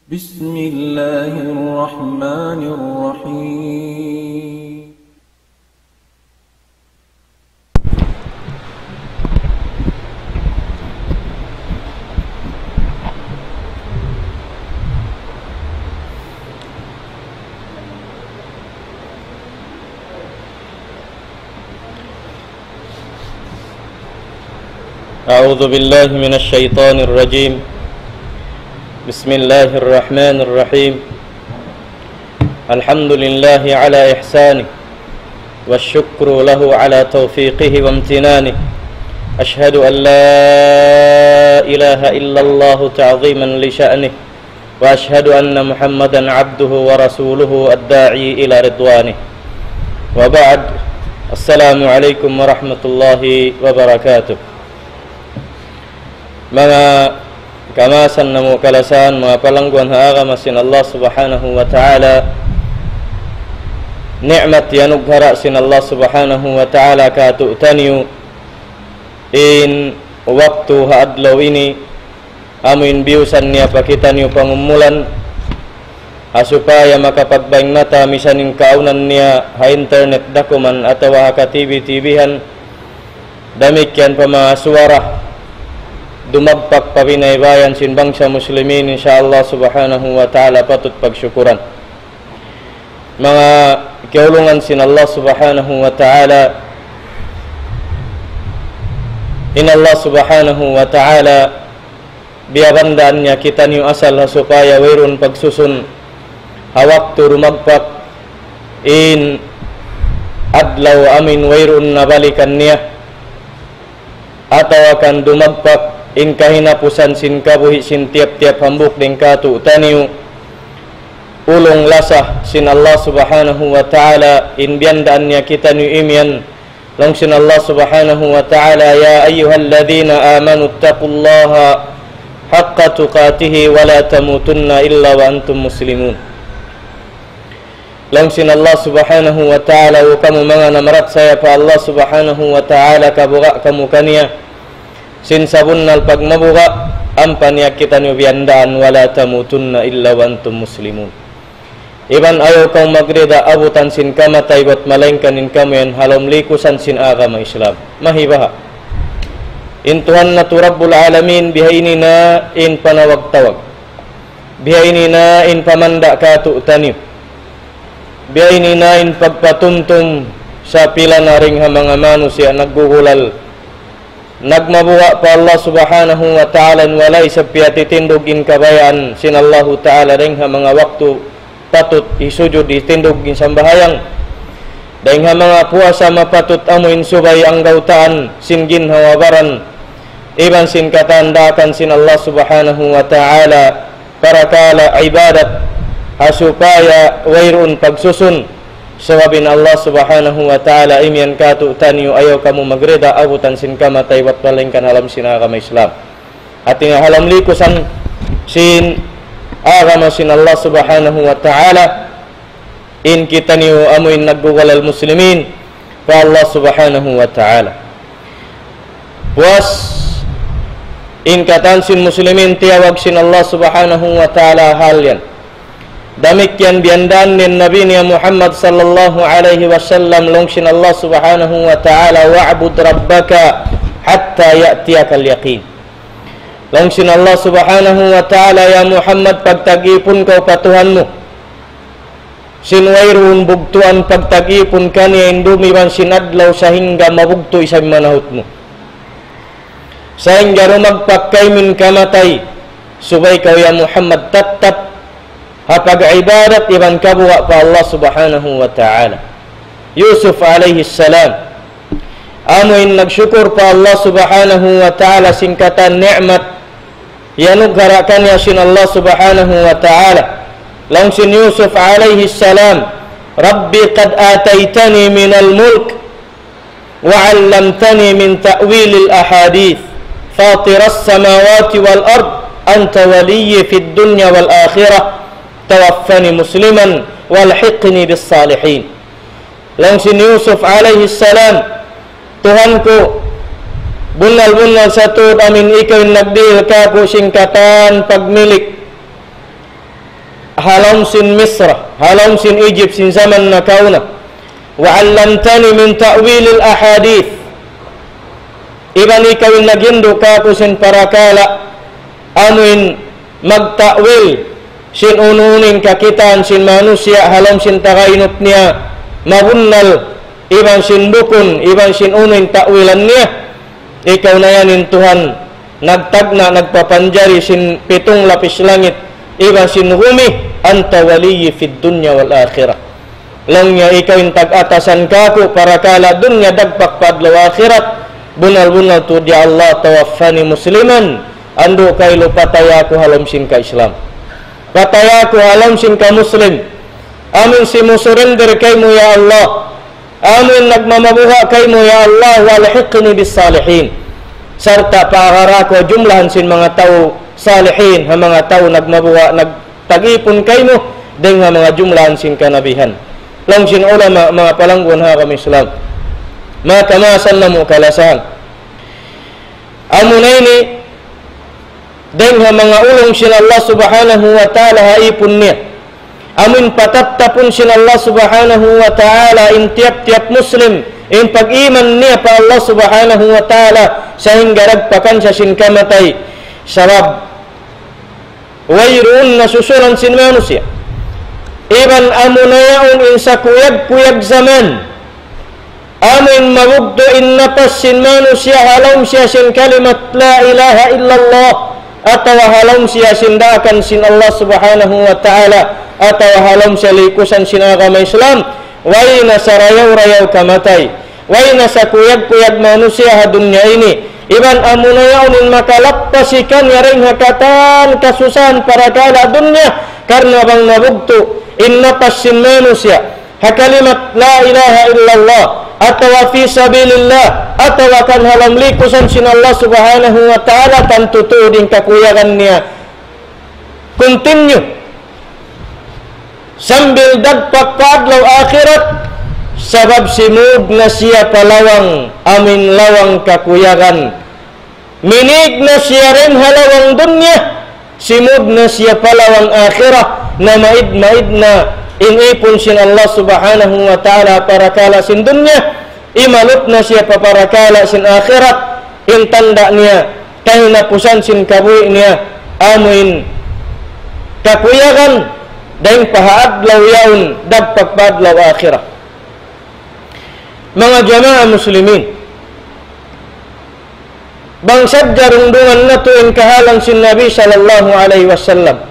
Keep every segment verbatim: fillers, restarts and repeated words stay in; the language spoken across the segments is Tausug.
بسم الله الرحمن الرحيم. أعوذ بالله من الشيطان الرجيم. بسم الله الرحمن الرحيم. الحمد لله على إحسانه، والشكر له على توفيقه وامتنانه. أشهد أن لا إله إلا الله تعظيما لشأنه، وأشهد أن محمدا عبده ورسوله الداعي إلى رضوانه. وبعد، السلام عليكم ورحمة الله وبركاته. Manga kamaasan namu' kalasahan, manga palangguan ha agama sin Allah Subhanahu wa Ta'ala, ni'mat iyanughara' sin Allah Subhanahu wa Ta'ala kātu'niyu in waktu ha adlaw ini, amu in biyusan niya pa kitaniyu pangumulan, ha supaya makapagbaying mata misan in kaawnan niya ha internet dakuman atawa ha ka-T V-T V-han, damikkiyan pa manga suwara dumagpak pa binaybayan sin bangsa muslimin, insya Allah Subhanahu wa Ta'ala patut pagsukuran. Manga kiyaulungan sin Allah Subhanahu wa Ta'ala, in Allah Subhanahu wa Ta'ala biyabandaan niya kitaniyu asal ha supaya wayruun pagsusun ha waktu dumagpak in adlaw amu in wayruun na balikan niya, atawa kan dumagpak in kahinapusan sin kabuhi' sin tiyap-tiyap hambuuk dayn kātu'niyu. Ulung lasa sin Allah Subhanahu wa Ta'ala in biyandaan niya kitaniyu imiyan. Laung sin Allah Subhanahu wa Ta'ala, يا أيها الذين آمنوا اتقوا الله حق تقاته ولا تموتن إلا وأنتم مسلمون. Laung sin Allah Subhanahu wa Ta'ala, "O kamu manga namarachaya pa Allah Subhanahu wa Ta'ala, kabuga' kamu kaniya sin sabunnal pagmabuga', ampa niya kitaniyu biyandaan, ولا تموتن إلا وأنتم مسلمون." Iban ayaw kamu magrida abutan sin kamatay bat malaingkan in kamu yan ha lawm likusan sin agama Islam. Mahibaha. In Tuhan natu' Rabbul Alamin, biha ini na in panawag-tawag. Biha ini na in pamanda' kātu'niyu. Biha ini na in pagpatumtum sa pila na dayn ha manga manusiya' naggugulal, nagmabuga' pa Allah Subhanahu wa Ta'ala, in wala' isab piyatitindug in kabayaan sin Allahu Ta'ala dayn ha manga waktu patut hisujud, hitindug in sambahayang. Dayn ha manga puasa mapatut amu in subay anggawtaan sin ginhawa-baran iban sin katan daakan sin Allah Subhanahu wa Ta'ala, parakala' ibadat, ha supaya wayruun pagsusun. Sabab in Allah Subhanahu wa Ta'ala imiyan kātu'niyu, ayaw kamu magrida abutan sin kamatay bat malaingkan ha lawm sin agama Islam. Hāti niya ha lawm likusan sin agama sin Allah Subhanahu wa Ta'ala, in kitaniyu amu in naggugulal muslimin pa Allah Subhanahu wa Ta'ala. Puas in katan sin muslimin tiyawag sin Allah Subhanahu wa Ta'ala hal yan. Damikkiyan biyandaan in Nabi niya Muhammad sallallahu alayhi wasallam, laung sin Allah Subhanahu wa Ta'ala, واعبد ربك حتى يأتيك اليقين. Laung sin Allah Subhanahu wa Ta'ala, "Ya Muhammad, pagtag-ipun kaw pa Tuhan mu sin wayruun bugtuan, pagtag-ipun kaniya in dum iban sin adlaw sahingga mabugtu' isab in manahut mu. Sahingga dumagpak kaymu in kamatay, subay kaw, ya Muhammad, tattap ha pag-ibadat iban kabuga' pa Allah Subhanahu wa Ta'ala." Yusuf alayhi salam, amu in nagsukur pa Allah Subhanahu wa Ta'ala sin katan ni'mat iyanughara' kaniya sin Allah Subhanahu wa Ta'ala. Laung sin Yusuf alayhi salam, رب قد آتيتني من الملك وعلمتني من تأويل الأحاديث فاطر السماوات والأرض أنت ولي في الدنيا والآخرة توفني مسلما وألحقني بالصالحين. Laung sin Yusuf alayhi salam, "Tuhan ku, bunnal-bunnal sa tuud amu in ikaw in nagdihil kāku' sin katan pagmilik ha lawm sin Misra, ha lawm sin Egypt sin jaman nakauna. وعلمتني من تأويل الأحاديث. Iban ikaw in naghindu' kāku' sin parakala' amuin magta'wil sin unu-unu in kakitaan sin manusiya' ha lawm sin tagainut niya mabunnal, iban sin bukun, iban sin unu in ta'wilan niya. Ikaw na yan in Tuhan nagtagna', nagpapanjari sin pitung lapis langit iban sin bumi. أنت ولي في الدنيا والآخرة. Laung niya, ikaw in tag-atasan kāku' parakala' dunya dagpak pa adlaw akhirat. Bunnal-bunnal tuud ya Allah, توفني مسلما. Andu' kailu pataya aku ha lawm sin ka-Islam. Pataya aku ha lawm sin ka-Muslim. Amuin simusurrender kaymu ya Allah. Amuin nagmamabuga' kaymu ya Allah, وألحقني بالصالحين. Sarta' paagara aku ha jumlahan sin manga tau salihin, ha manga tau nagmabuga', nagtag-ipun kaymu, dayn ha manga jumlahan sin kanabihan. Laung sin ulama, manga palangguan ha agama Islam. Maka masan namu' kalasahan. Amuna ini, dayn ha manga ulung sin Allah Subhanahu wa Ta'ala ha ipun niya. Amuin patattapun sin Allah Subhanahu wa Ta'ala in tiyap-tiyap Muslim, in pag-iman niya pa Allah Subhanahu wa Ta'ala, sahingga dagpakan siya sin kamatay. Sabab, wayruun na susulan sin manusiya'. Iban amuna yaun in sakuyag-kuyag jaman. Amuin mabugtu' in napas sin manusiya' ha lawm siya sin kalimat لا إله إلا الله, atawa ha lawm siya sin daakan sin Allah Subhanahu wa Ta'ala, atawa ha lawm siya likusan sin agama Islam, way na sarayaw-rayaw kamatay, way na sakuyag-kuyag manusiya' ha dunya ini, iban amuna yaun in makalappas kaniya dayn ha katan kasusahan parakala' dunya, karna' bang nabugtu' in napas sin manusiya' ha kalimat لا إله إلا الله, atawa في سبيل الله, atawa kan ha lawm likusan sin Allah Subhanahu wa Ta'ala, tantu tuud in kakuyagan niya continue sambil dagpak pa adlaw akhirat, sabab simud na siya pa lawang, amuin lawang kakuyagan. Minig na siya dayn ha lawang dunya, simud na siya pa lawang akhirat, na maid-maid na in ipun sin Allah Subhanahu wa Ta'ala parakala' sin dunya, imalup na siya pa parakala' sin akhirat, in tanda' niya, kahinapusan sin kabuhi' niya, amuin kakuyagan, dayn pa ha adlaw yaun, dagpak pa adlaw akhirat. Manga jamaa muslimin, bang sadja rundungan natu' in kahalan sin Nabi sallallahu alayhi wasallam.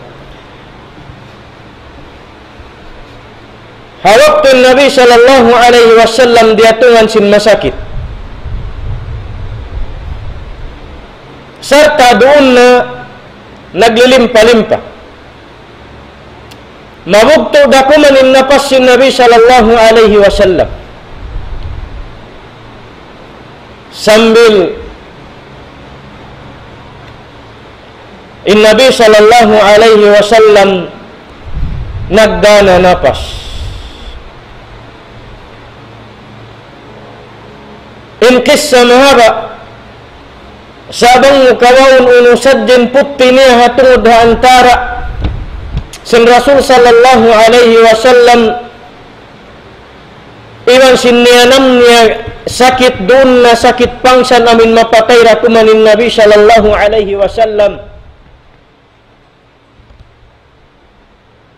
Ha waktu Nabi sallallahu alayhi wasallam diyatungan sin masakit, sarta' duun na naglilimpa-limpa. Mabugtu' da kuman in napas sin Nabi sallallahu alayhi wasallam. Sambil in Nabi sallallahu alayhi wasallam nagdana napas. In kissa mahaba', sa' bang mu kawaun unu sadja in putti niya ha tungud ha antara' sin Rasul sallallahu alayhi wasallam iban sin niyanam niya sakit duun na sakit pangsan amuin mapatay da kuman in Nabi sallallahu alayhi wasallam.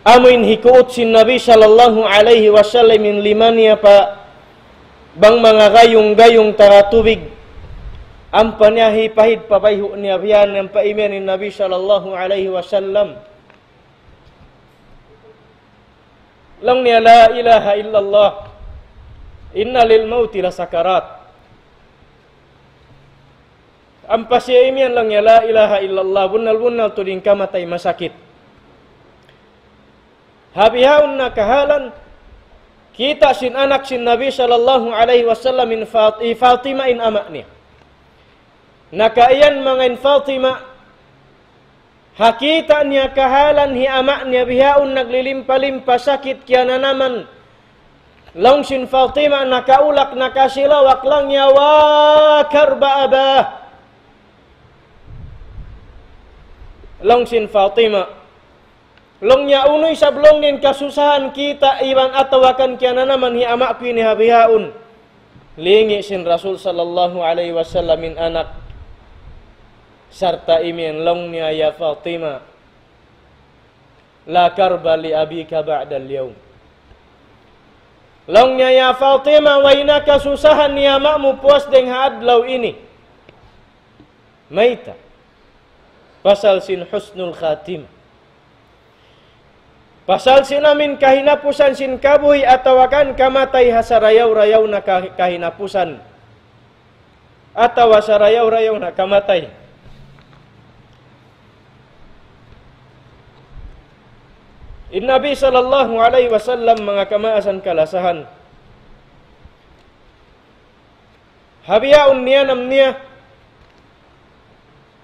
Amuin hikuut sin Nabi sallallahu alayhi wasallam in lima niya pa bang manga gayung-gayung tara tubig. Ampa niya hipahid pa bayhu' niya biya' yan, ampa imiyan in Nabi sallallahu alayhi wasallam. Laung niya, لا إله إلا الله، إن للموت لسكرات. Ampa siya imiyan laung niya, لا إله إلا الله, bunnal-bunnal tuud in kamatay masakit. Ha bihaun na kahalan, kita' sin anak sin Nabi sallallahu alayhi wasallam in Fat-, hi Fatima in ama' niya. Nakaiyan manga in Fatima, ha kita' niya kahalan hi ama' niya bihaun naglilimpa-limpa sakit kiyananaman. Laung sin Fatima nakaulak, nakasilawak laung niya, وكرب أباه. Laung sin Fatima, Laung niya, unu isab laung niya in kasusahan kita iban atawa kan kiyananaman hi ama' ku ini ha bihaun. Lingi' sin Rasul sallallahu alayhi wasallam in anak. Sarta' imiyan laung niya, يا فاطمة، لا كرب لأبيك بعد اليوم. Laung niya, ya Fatima, way na kasusahan hi ama' mu puas dayng ha adlaw ini. Mayta'? Pasal sin husnul khatimah. Pasal sin amin kahinapusan sin kabuhi' atawa kan kamatay ha sarayaw-rayaw na ka-, kahinapusan. Atawa sarayaw-rayaw na kamatay. In Nabi sallallahu alayhi wasallam, manga kamaasan kalasahan, ha bihaun niyanam niya,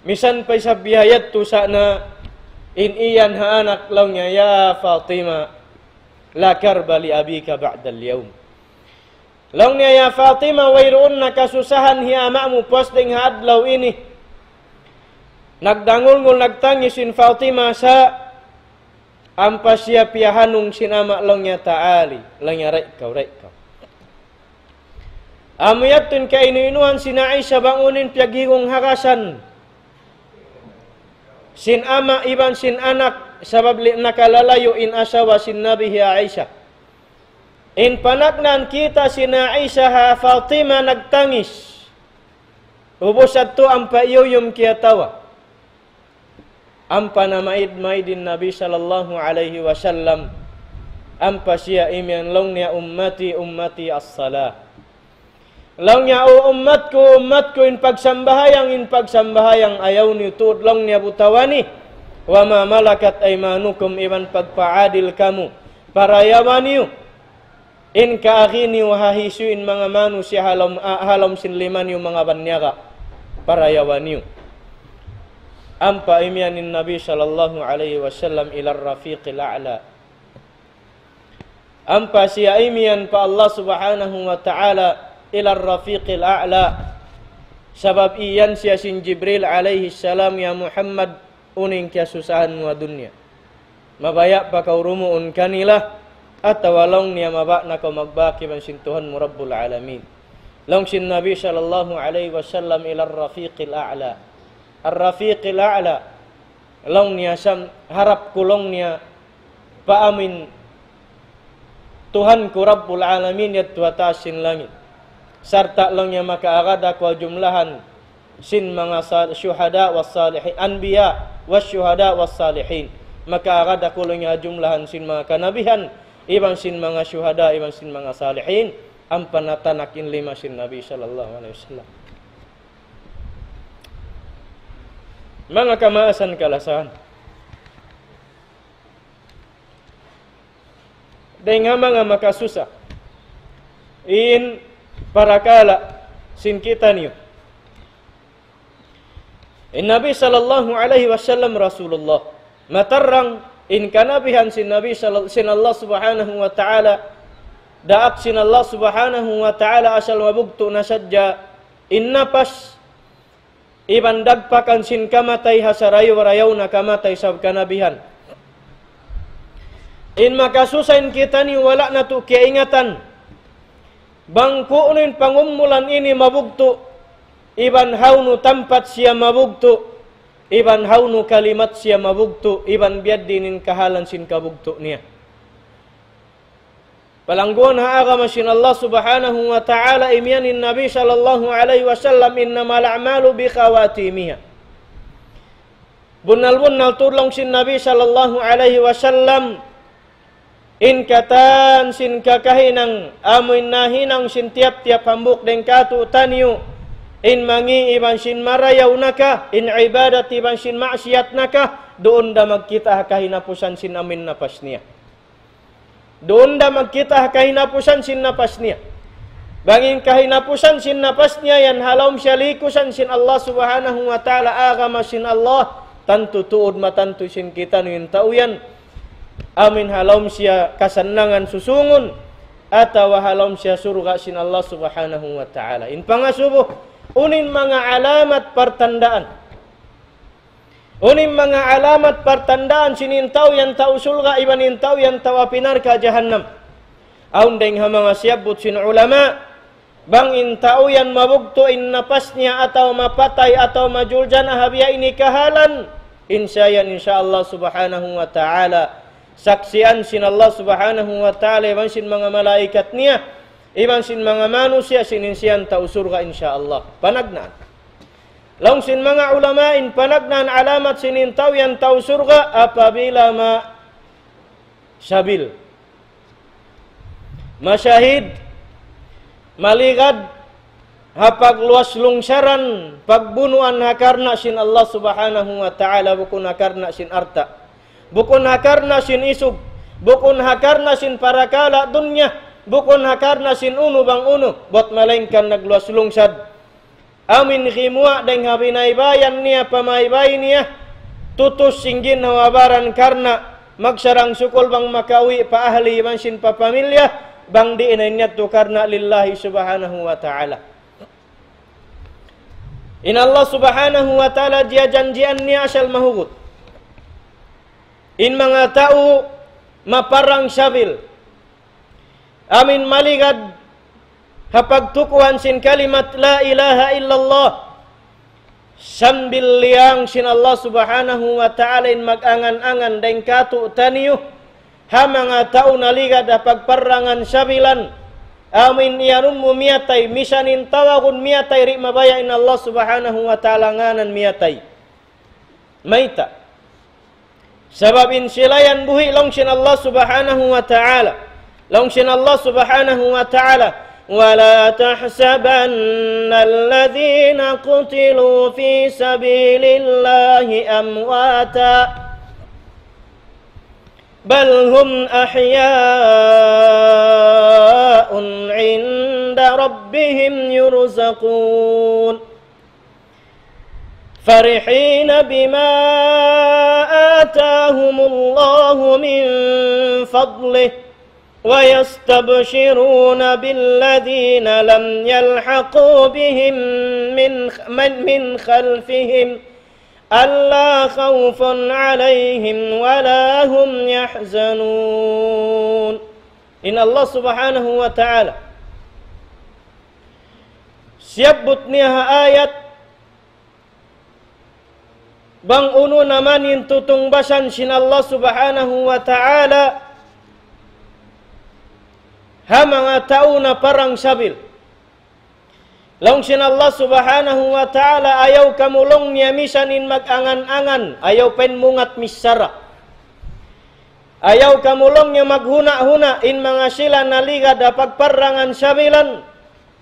misan pa isab biha yadtu sa' na in iyan ha anak laung niya, يا فاطمة، لا كرب لأبيك بعد اليوم. Laung niya, ya Fatima, wayruun na kasusahan hi ama' mu puas dayng ha adlaw ini. Nagdangulngul, nagtangis in Fatima sa' ampa siya piyahanung sin ama' laung niya, تعالي, laung niya, dayn kaw, dayn kaw. Amu yadtu in kainu-inuhan sin Aisha bang unu in piyaghingung harasan sin ama' iban sin anak, sabab li-, nakalalayu' in asawa sin Nabi hi Aisha. In panagnaan kita sin Aisha ha Fatima nagtangis. Ubus yadtu ampa iyuyum kiyatawa. Ampa namaid-maid in Nabi sallallahu alayhi wasallam. Ampa siya imiyan laung niya, أمتي أمتي الصلاة. Laung niya, "O ummat ku, ummat ku, in pagsambahayang, in pagsambahayang, ayaw niyu tuud," laung niya, "butawani. وما ملكت أيمانكم, iban pagpaadil kamu, parayawa niyu in kaagi niyu ha hisiyu in manga manusiya' ha lawm, ah, ha lawm sin lima niyu manga banyaga, parayawa niyu." Ampa imiyan in Nabi sallallahu alayhi wasallam إلى الرفيق الأعلى. Ampa siya imiyan pa Allah Subhanahu wa Ta'ala إلى الرفيق الأعلى. Sabab iyan siya sin Jibril alayhi salam, "Ya Muhammad, unu in kiyasusahan mu ha dunya? Mabaya' pa kaw dumuun kanila, atawa laung niya mabaya' na kaw magbak iban sin Tuhan mu Rabbul Alamin?" Laung sin Nabi sallallahu alayhi wasallam, إلى الرفيق الأعلى. الرفيق الأعلى. Laung niya, sam-, harap ku laung niya pa amin Tuhan ku Rabbul Alamin yadtu ha taas sin langit. Sarta' laung niya makaagad aku ha jumlahan sin manga sal-, shuhada was salihin, anbiya was shuhada was salihin. Makaagad aku laung niya ha jumlahan sin manga kanabihan, iban sin manga shuhada, iban sin manga salihin. Ampa natanak in lima sin Nabi sallallahu alayhi wasallam. Manga kamaasan kalasahan. Dayn ha manga makasusa in parakala' sin kitaniyu. In Nabi sallallahu alayhi wasallam Rasulullah. Matarrang in kanabihan sin Nabi sal-, sin Allah Subhanahu wa Ta'ala, daak sin Allah Subhanahu wa Ta'ala asal mabugtu' na sadja in napas iban dagpakan sin kamatay ha sarayaw-rayaw na kamatay sabab kanabihan. In makasusa in kitaniyu wala' natu' kiyaingatan bang ku'nu in pangumulan ini mabugtu', iban hawnu tampat siya mabugtu', iban hawnu kalimat siya mabugtu', iban biya' diin in kahalan sin kabugtu' niya. Palangguan ha agama sin Allah Subhanahu wa Ta'ala, imiyan in Nabi sallallahu alayhi wasallam, إنما الأعمال بخواتيمها. Bunnal-bunnal tuud laung sin Nabi sallallahu alayhi wasallam, in katan sin kakahinang, amu in nahinang sin tiyap-tiyap hambuuk dayn kātu'niyu, in mangi' iban sin marayaw na ka, in ibadat iban sin maksiyat na ka, duun da magkita' ha kahinapusan sin amu in napas niya. Duun da magkita' ha kahinapusan sin napas niya. Bang in kahinapusan sin napas niya yan ha lawm siya likusan sin Allah Subhanahu wa Ta'ala, agama sin Allah, tantu tuud matantu sin kitaniyu in tau yan. Amu in ha lawm siya kasannangan susungun, atawa ha lawm siya surga' sin Allah Subhanahu wa Ta'ala. In pangasubu, unu in manga alamat partandaan. Unu in manga alamat partandaan sin in tau yan tau surga' iban in tau yan tau api narka' jahannam. Awn dayng ha manga siyabbut sin ulama, bang in tau yan mabugtu' in napas niya atawa mapatay atawa majuljana ha biya' ini kahalan, in siya yan insya Allah subhanahu wa ta'ala saksian sin Allah subhanahu wa ta'ala iban sin manga malaikat niya, iban sin manga manusiya' sin in siya yan tau surga' insya Allah. Panagnaan. Laung sin manga ulama in panagnaan alamat sin in tau yan tau surga' apabila ma sabil, masahid, maligad ha pagluwas lungsaran, pagbunuan ha karna' sin Allah subhanahu wa ta'ala, bukun ha karna' sin alta', bukun ha karna' sin isug, bukun ha karna' sin parakala' dunya, bukun ha karna' sin unu bang unu, bat malaingkan nagluwas lungsad. Amu in gimuwa' dayng ha binaybayan niya, pamaybay niya, tutus sin ginhawa-baran karna' magsarang-sukul bang makauwi' pa ahli iban sin pa pamilya, bang di' na in yadtu karna' lillahi subhanahu wa ta'ala. In Allah subhanahu wa ta'ala jiyajanjian niya asal mahugut. In manga tau maparang sabil, amu in maligad ha pagtukuhan sin kalimat la ilaha illallah, sambil liyang sin Allah subhanahu wa ta'ala in mag-angan-angan dayng kātu'niyu ha manga tau naligad ha pagparangan sabilan. Amu in iyanun mu miyatay, misan in tawagun miyatay, di' mabaya' in Allah subhanahu wa ta'ala ngānan miyatay. Mayta'? Sabab in sila yan buhi' laung sin Allah subhanahu wa ta'ala. Laung sin Allah subhanahu wa ta'ala, ولا تحسبن الذين قتلوا في سبيل الله أمواتا بل هم أحياء عند ربهم يرزقون فرحين بما آتاهم الله من فضله ويستبشرون بالذين لم يلحقوا بهم من من من خلفهم ألا خوف عليهم ولا هم يحزنون. In Allah subhanahu wa ta'ala siyabbut niya ha ayat bang unu na man in tutungbasan sin Allah subhanahu wa ta'ala ha manga tau naparang sabil. Laung sin Allah subhanahu wa ta'ala, ayaw kamu laung niya misan in mag-angan-angan, ayaw pa in mungat misara. Ayaw kamu laung niya maghuna'-huna' in manga sila naligad ha pagparangan sabilan,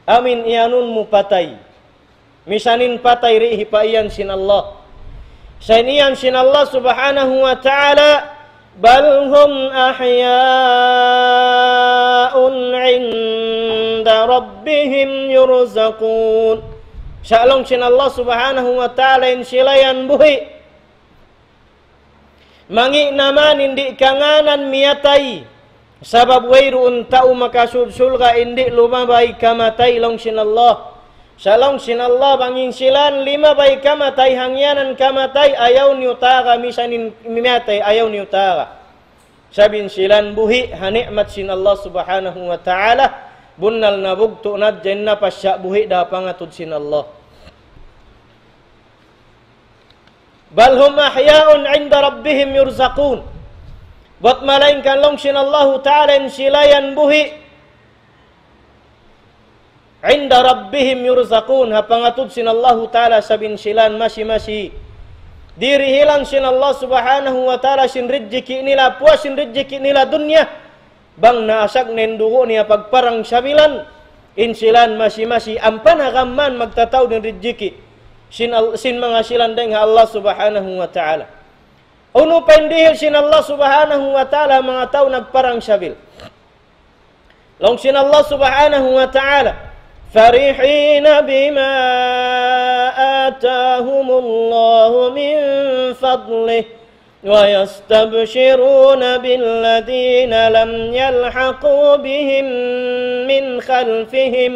amu in iyanun mu patay. Misan in patay di' hipaiyan sin Allah. Sa' in iyan sin Allah subhanahu wa ta'ala, بل هم أحياء عند ربهم يرزقون. Sa' laung sin Allah subhanahu wa ta'ala in sila yan buhi'. Mangi' na man in di' kangānan miyatay. Sabab wayruun tau makasud surga' in di' lumabay kamatay laung sin Allah. Sa' laung sin Allah bang in sila limabay kamatay, hangyanan kamatay, ayaw niyu taga, misan in miyatay, ayaw niyu taga. Sabab in sila buhi' ha ni'mat sin Allah subhanahu wa ta'ala, bunnal nabugtu' na hadja in napas sa' buhi' da pangatud sin Allah. بل هم أحياء عند ربهم يرزقون. Bat malaingkan laung sin Allahu ta'ala in sila yan buhi'. عند ربهم يرزقون. Ha pangatud sin Allahu ta'ala sabab in sila masi-masi dirihilan sin Allah subhanahu wa ta'ala sin rijiki' nila, puas sin rijiki' nila dunya. Bang naasag na in dugu' niya pagparang sabilan, in sila masi-masi ampa na gam man magtataud in rijiki' sin, sin manga sila dayng ha Allah subhanahu wa ta'ala. Unu pa in dihil sin Allah subhanahu wa ta'ala manga tau nagparang sabil? Laung sin Allah subhanahu wa ta'ala, فرحين بما آتاهم الله من فضله ويستبشرون بالذين لم يلحقوا بهم من خلفهم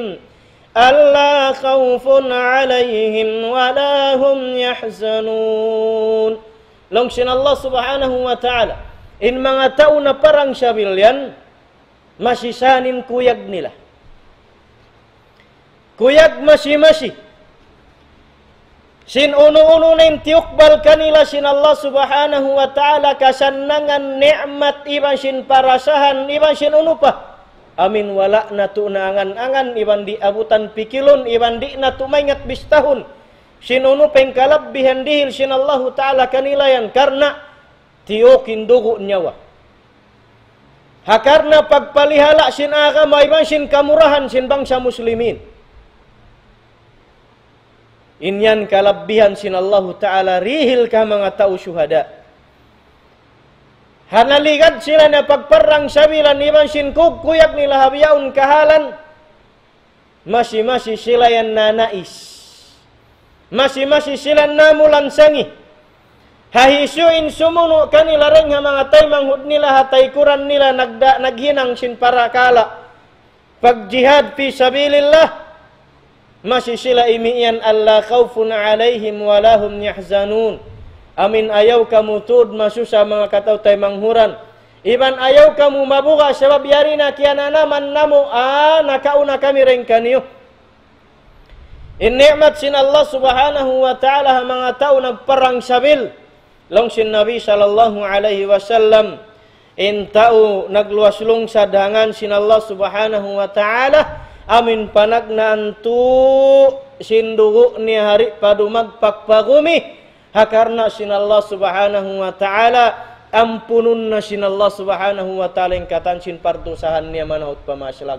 ألا خوف عليهم ولا هم يحزنون. Laung sin Allah Subhanahu wa Ta'ala, in manga tau naparang sabil yan, masi sa in kuyag nila. Kuyag masi-masi. Sin unu-unu na in tiyukbal kanila sin Allah Subhanahu wa Ta'ala, kasannangan, ni'mat, iban sin parasahan, iban sin unu pa. Amin wala' natu' naangan-angan, iban di' abutan pikilun, iban di' natu' maingat bistahun. Sin unu pa in kalabbihan dihil sin Allahu Ta'ala kanila yan, karna' tiyuk in dugu' niyawa. Ha karna' pagpalihala' sin agama iban sin kamurahan sin bangsa Muslimin. In yan kalabbihan sin Allahu Ta'ala dihil ha manga tau shuhada. Ha naligad sila na pagparang sabilan iban sin kuyag-kuyag nila ha bihaun kahalan, masi-masi sila yan nanais. Masi-masi sila namulansangi. Ha hisiyu in sumunu' kanila dayng ha manga taymanghud nila ha taykuran nila nagda-, naghinang sin parakala' pagjihad fi sabilillah. Masi sila imiyan, ألا خوف عليهم ولا هم يحزنون. Amin ayaw kamu tuud masusa manga kataw-taymanghuran. Iban ayaw kamu mabuga' sabab yari na kiyananaman namu', ah, nakauna kami dayng kaniyu. In ni'mat sin Allah Subhanahu wa Ta'ala ha manga tau nagparang sabil. Laung sin Nabi sallallahu alayhi wasallam, in tau nagluwas lungsad ha ngan sin Allah Subhanahu wa Ta'ala, amin panagnaan tu' sin dugu' niya di' pa dumagpak pa gumi, ha karna' sin Allah Subhanahu wa Ta'ala, ampunun na sin Allah Subhanahu wa Ta'ala in katan sin pardusahan niya manahut pa maslag.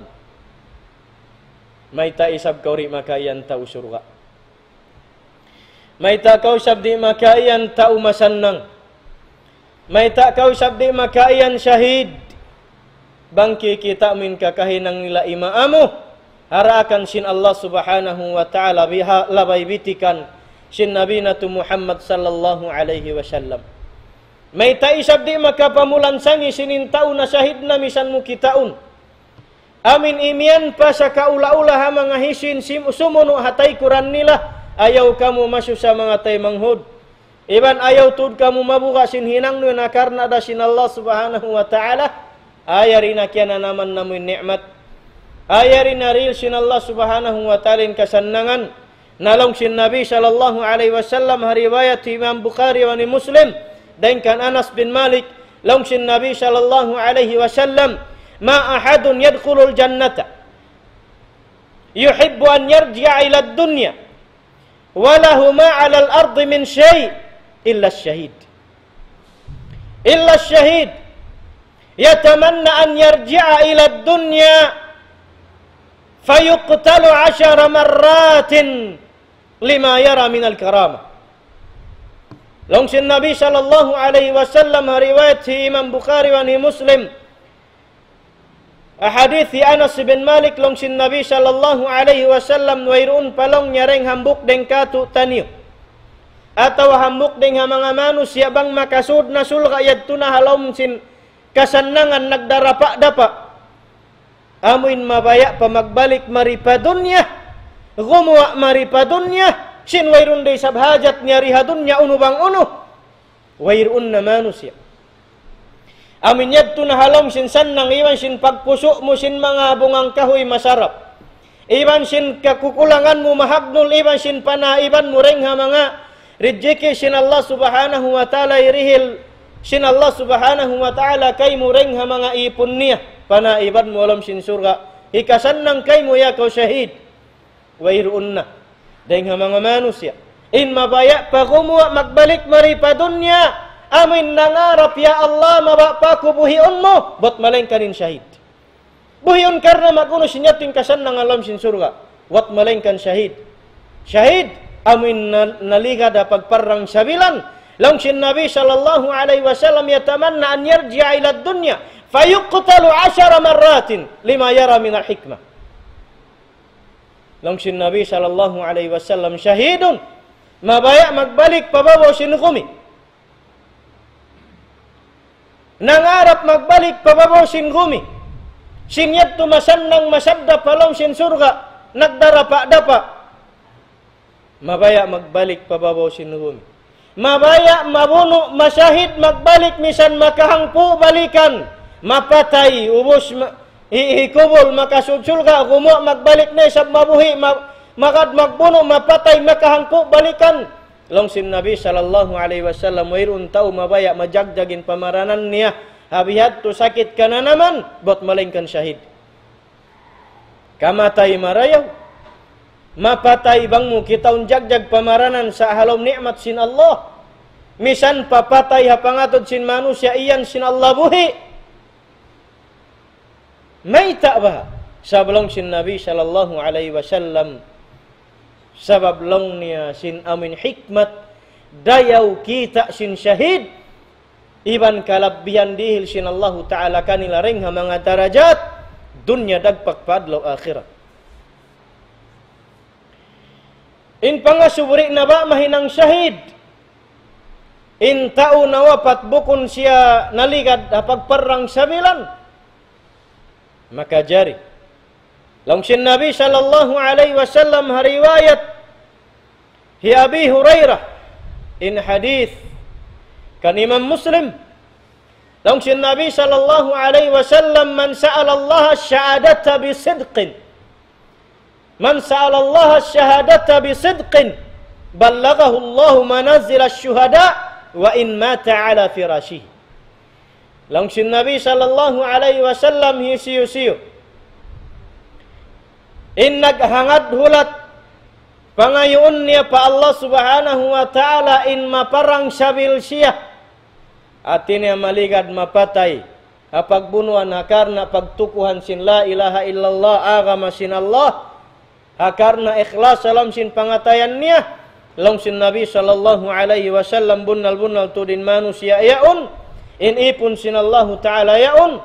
Mayta' isab kaw di' makaiyan tau surga'? Mayta' kaw isab di' makaiyan tau masannang? Mayta' kaw isab di' makaiyan shahid? Bang kikita' mu in kakahinang nila ima' amu, ha daakan sin Allah Subhanahu wa Ta'ala, biha-, labay bitikan sin Nabi natu' Muhammad sallallahu alayhi wasallam. Mayta' isab di' makapamulansangi sin in tau na shahid na misan mu kitaun. Amin imiyan pa sakaula-ula ha manga hisiyu in sim-, sumunu' ha taykuran nila, ayaw kamu masusa manga taymanghud. Iban ayaw tuud kamu mabuga' sin hinang niyu na karna' da sin Allah Subhanahu wa Ta'ala, yari na kiyananaman namu' in ni'mat. Yari na dihil sin Allah Subhanahu wa Ta'ala in kasannangan. Na laung sin Nabi sallallahu alayhi wasallam ha riwayat Imam Bukhari wa ni Muslim, dayn kan Anas bin Malik, laung sin Nabi sallallahu alayhi wasallam, ما أحد يدخل الجنة يحب أن يرجع إلى الدنيا وله ما على الأرض من شيء إلا الشهيد. إلا الشهيد يتمنى أن يرجع إلى الدنيا فيقتل عشر مرات لما يرى من الكرامة. Laung sin Nabi sallallahu alayhi wasallam ha riwayat hi Imam Bukhari wa hi Muslim, ha hadith hi Anas bin Malik, laung sin Nabi sallallahu alayhi wasallam, wayruun pa laung niya dayng hambuuk dayng kātu'niyu atawa hambuuk dayng ha manga manusiya' bang makasud na surga' yadtu na ha lawm sin kasannangan nagdarapa-dapa. Amuin mabaya' pa magbalik mari pa dunya, gumuwa' mari pa dunya, sin wayruun da isab hajat niya di ha dunya unu bang unu. Wayruun na manusiya'. Amuin yadtu na ha lawm sin sannang iban sin pagpusu' mu sin manga bungang kahuy masarap. Iban sin kakukulangan mu mahagnul, iban sin panaiban mu dayng ha manga rijiki' sin Allah Subhanahu wa Ta'ala, hirihil sin Allah Subhanahu wa Ta'ala kaymu dayng ha manga ipun niya, panaiban mu ha lawm sin surga'. Hikasannang kaymu ya kaw shahid. Wayruun na dayng ha manga manusiya' in mabaya' pa gumuwa' magbalik mari pa dunya, amuin nangarap, "Ya Allah, mabaya' pa aku buhiun mu," bat malaingkan in shahid. Buhiun karna' mag'unu sin yadtu in kasannangan ha lawm sin surga', bat malaingkan shahid. Shahid, amuin na-, naligad ha pagparrang sabilan. Laung sin Nabi sallallahu alayhi wasallam, يتمنى أن يرجع إلى الدنيا فيقتل عشر مرات لما يرى من الحكمة. Laung sin Nabi sallallahu alayhi wasallam, shahidun, mabaya' magbalik pa babaw sin gumi. Nangarap magbalik pa babaw sin gumi. Sin yadtu masannang masaddap ha lawm sin surga', nagdarapa-dapa. Mabaya' magbalik pa babaw sin gumi. Mabaya' mabunu', masahid, magbalik, misan makahangpu' balikan, mapatay, ubus ma-, hi-, hikubul, makasud surga', gumuwa' magbalik na isab mabuhi', ma-, magad magbunu', mapatay, makahangpu' balikan. Laung sin Nabi sallallahu alayhi wasallam, wayruun tau mabaya' majagjag in pamaranan niya, ha bihadtu sakit kananaman, bat malaingkan sahid. Kamatay marayaw. Mapatay bang mu kitaun jagjag pamaranan sa' ha lawm ni'mat sin Allah. Misan pa patay ha pangatud sin manusiya' iyan sin Allah buhi'. Mayta' ba? Sabab laung sin Nabi sallallahu alayhi wasallam, sabab laung niya sin amin hikmat, dayaw kita' sin shahid, iban kalabbihan dihil sin Allahu Ta'ala kanila dayn ha manga darajat, dunya dagpak pa adlaw akhirat. In pangasubri na ba mahinang shahid? In tau nawapat bukun siya naligad ha pagparrang sabilan. Makajari. Laung sin Nabi sallallahu alayhi wasallam ha riwayat hi Abi Hurairah, in hadith kan Imam Muslim. Laung sin Nabi sallallahu alayhi wasallam, من سأل الله الشهادة بصدق، من سأل الله الشهادة بصدق بلغه الله منازل الشهداء وإن مات على فراشه. Laung sin Nabi sallallahu alayhi wasallam, hisiyu-siyu in naghangad hulat pangayuun niya pa Allah Subhanahu wa Ta'ala in maparang sabil siya, hati niya maligad mapatay ha pagbunuan ha karna' pagtukuhan sin la ilaha illallah, agama sin Allah, ha karna' ikhlas ha lawm sin pangatayan niya. Laung sin Nabi sallallahu alayhi wasallam, bunnal-bunnal tuud in manusiya' yaun, in ipun sin Allahu Ta'ala yaun,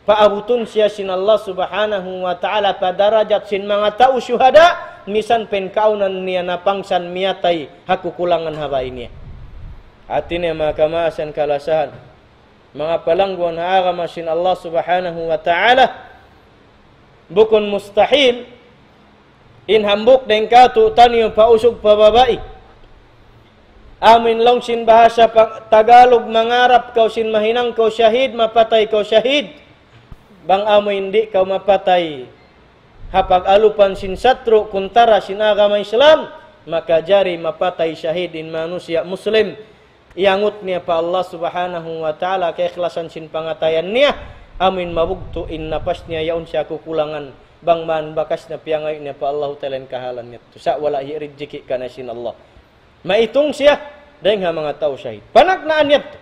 paabutun siya sin Allah Subhanahu wa Ta'ala pa darajat sin manga tau shuhada, misan pa in kaawnan niya napangsan miyatay ha kukulangan ha bāy niya. Hati niya, manga kamaasan kalasahan, manga palangguan ha agama sin Allah Subhanahu wa Ta'ala, bukun mustahil in hambuuk dayn kātu'niyu pa usug pa babai, amuin laung sin bahasa pa-, Tagalog, mangarap kaw sin mahinang kaw shahid, mapatay kaw shahid, bang amuin di' kaw mapatay ha pag-alupan sin satru' kuntara sin agama Islam, makajari mapatay shahid in manusiya' Muslim, iyangut niya pa Allah Subhanahu wa Ta'ala kaikhlasan sin pangatayan niya, amuin mabugtu' in napas niya, yaun siya kukulangan, bang man bakas na piyangayu' niya pa Allahu Ta'ala in kahalan niya. Sa' wala' hi rijiki' kaniya sin Allah. Maitung siya dayn ha manga tau shahid. Panagnaan niya yadtu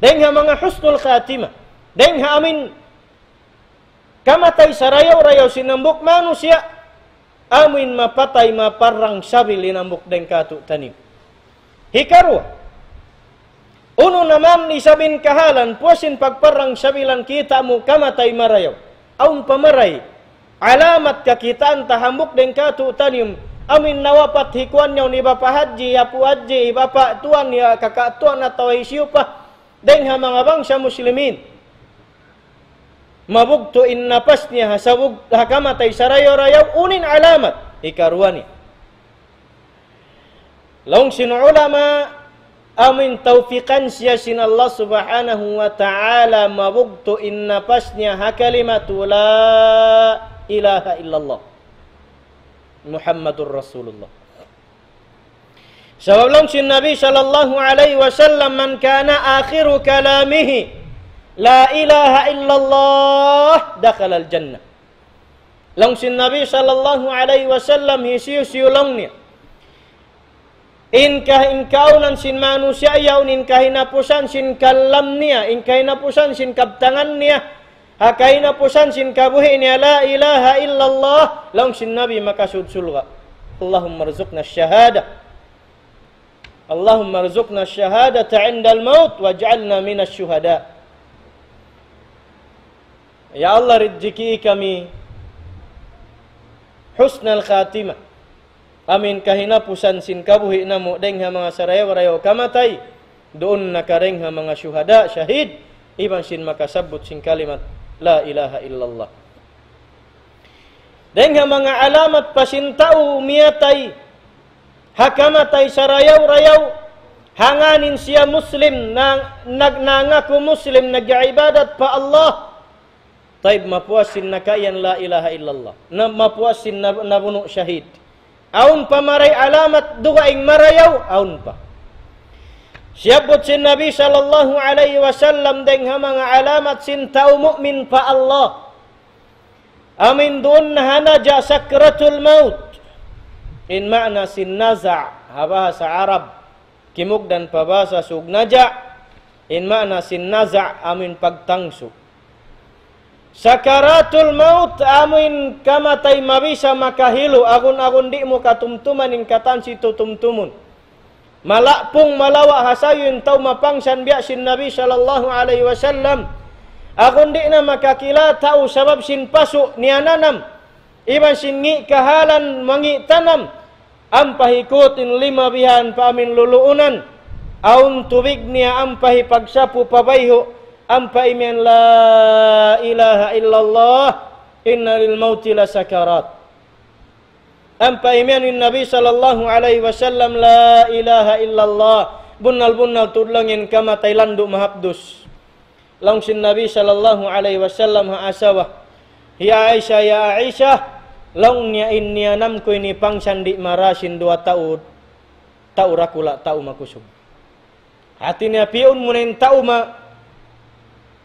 dayn ha manga husnul khatimah. Dayn ha amuin kamatay sarayaw-rayaw sin hambuuk manusiya', amuin mapatay maparrang sabil in hambuuk dayn kātu'niyu. Hikaruwa, unu na man isab in kahalan, puas sin pagparrang sabilan kita' mu kamatay marayaw. Awn pa mari alamat kakitaan ta hambuuk dayn kātu'niyu, amuin nawapat hi kuwan yaun, hi Bapa' Hadji, hi Apu' Hadji, hi Bapa' Tuan, hi Kaka' Tuan atawa hisiyu pa dayn ha manga bangsa Muslimin. Mabugtu' in napas niya ha sabab ha kamatay sarayaw-rayaw, unu in alamat? Hikaruwa niya, laung sin ulama, amuin tawfikan siya sin Allah Subhanahu wa Ta'ala, mabugtu' in napas niya ha kalimatu la ilaha illallah Muhammadur Rasulullah. Sabab laung sin Nabi sallallahu alayhi wasallam, من كان آخر كلامه لا إله إلا الله دخل الجنة. Laung sin Nabi sallallahu alayhi wasallam, hisiyu-siyu laung niya in ka-, in kaawnan sin manusiya' yaun, in kahinapusan sin kalam niya, in kahinapusan sin kabtangan niya, ha kahinapusan sin kabuhi' niya, la ilaha illallah, laung sin Nabi, makasud surga'. اللهم ارزقنا الشهادة. اللهم ارزقنا الشهادة عند الموت واجعلنا من الشهداء. Ya Allah, rijiki kami husnal khatimah. Amuin kahinapusan sin kabuhi' namu' dayn ha manga sarayaw-rayaw kamatay, duun na ka dayn ha manga shuhada, shahid, iban sin makasabbut sin kalimat la ilaha illallah. Dayn ha manga alamat pa sin tau miyatay ha kamatay sarayaw-rayaw, Hangkan in siya Muslim, na, nag-, nangaku Muslim, nag-ibadat pa Allah. Tayyib, mapuas sin nakaiyan la ilaha illallah. Na, mapuas sin nab-, nabunu' shahid. Awn pa maray alamat dugaing marayaw, awn pa. Siyabbut sin Nabi sallallahu alayhi wasallam dayn ha manga alamat sin tau mu'min pa Allah. Amuin duun na ha naja' sakratul maut. In maana sin naza' ha bahasa Arab. Kimugdan pa bahasa Sug naja'. In maana sin naza' amuin pagtangsu. Sakaratul maut amuin kamatay mabisa makahilu, agun-agun di' mu katumtuman in katan situ tumtumun. Malapung malawa' ha sayu in tau mapangsan biya' sin Nabi sallallahu alayhi wasallam. Agun di' na makakila' tau sabab sin pasu' niyananam. Iban sin ngi' kahalan mangi' tanam. Ampa hikut in lima bihan pa amuin luluunan. Awn tubig niya ampa hipagsapu pa bayhu'. Ampa imiyan la ilaha illallah. Inna lil mauti la sakarat. Ampa imiyan in Nabi sallallahu alayhi wasallam, la ilaha illallah. Bunnal-bunnal tuud laung in kamatay landu' mahapdus. Laung sin Nabi sallallahu alayhi wasallam ha asawa. Hi Aisha, ya Aisha, laung niya in niyanam ku ini pangsan di' mara sin duwa tau, tau dakula', tau makusug. Hati niya piyun mu na in tau ma-,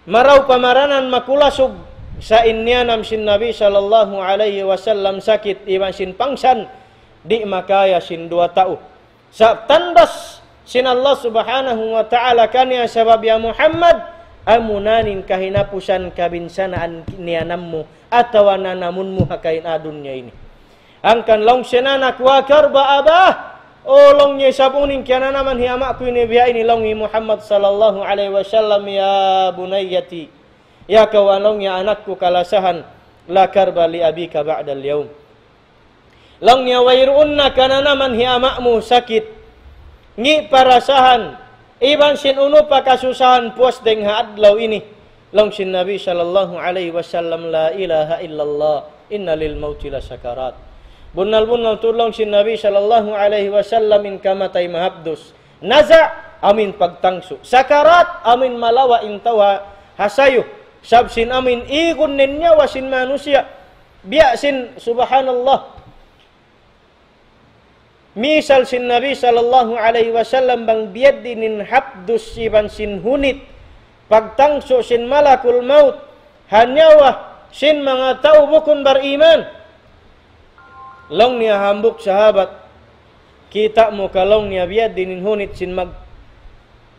marayaw pamaranan makulasug sa' in niyanam sin Nabi sallallahu alayhi wasallam sakit iban sin pangsan di' makaya sin duwa tau. Sa' tandas sin Allah subhanahu wa ta'ala kaniya sabab ya Muhammad, amuna in kahinapusan kabinsanaan niyanam mu atawa nanamun mu ha kaina dunya ini. Hangkan laung sin anak, wa karba abah, o laung niya isab unu in kiyananaman hi ama' ku ini biya' ini laung hi Muhammad sallallahu alayhi wasallam, ya bunayyati, ya kaw laung niya anak ku kalasahan, la karba li abika ba'dal yawm. Laung niya wayruun na kananaman hi ama' mu sakit, ngi' parasahan, iban sin unu pa kasusahan puas dayng ha adlaw ini. Laung sin Nabi sallallahu alayhi wasallam, la ilaha illallah, inna lil mauti la sakarat. Bunnal-bunnal tuud laung sin Nabi sallallahu alayhi wasallam in kamatay mahapdus. Naza', amuin pagtangsu. Sakarat, amuin malawa' in tau ha, ha sayu. Sabab sin amuin igun in nyawa sin manusiya'. Biya' sin, subhanallah. Misal sin Nabi sallallahu alayhi wasallam bang biya' diin in hapdus iban sin hunit, pagtangsu sin malakul maut, ha nyawa sin manga tau bukun bariman. Laung niya hambuuk sahabat, kita' mu ka laung niya biya' diin in hunit sin mag-,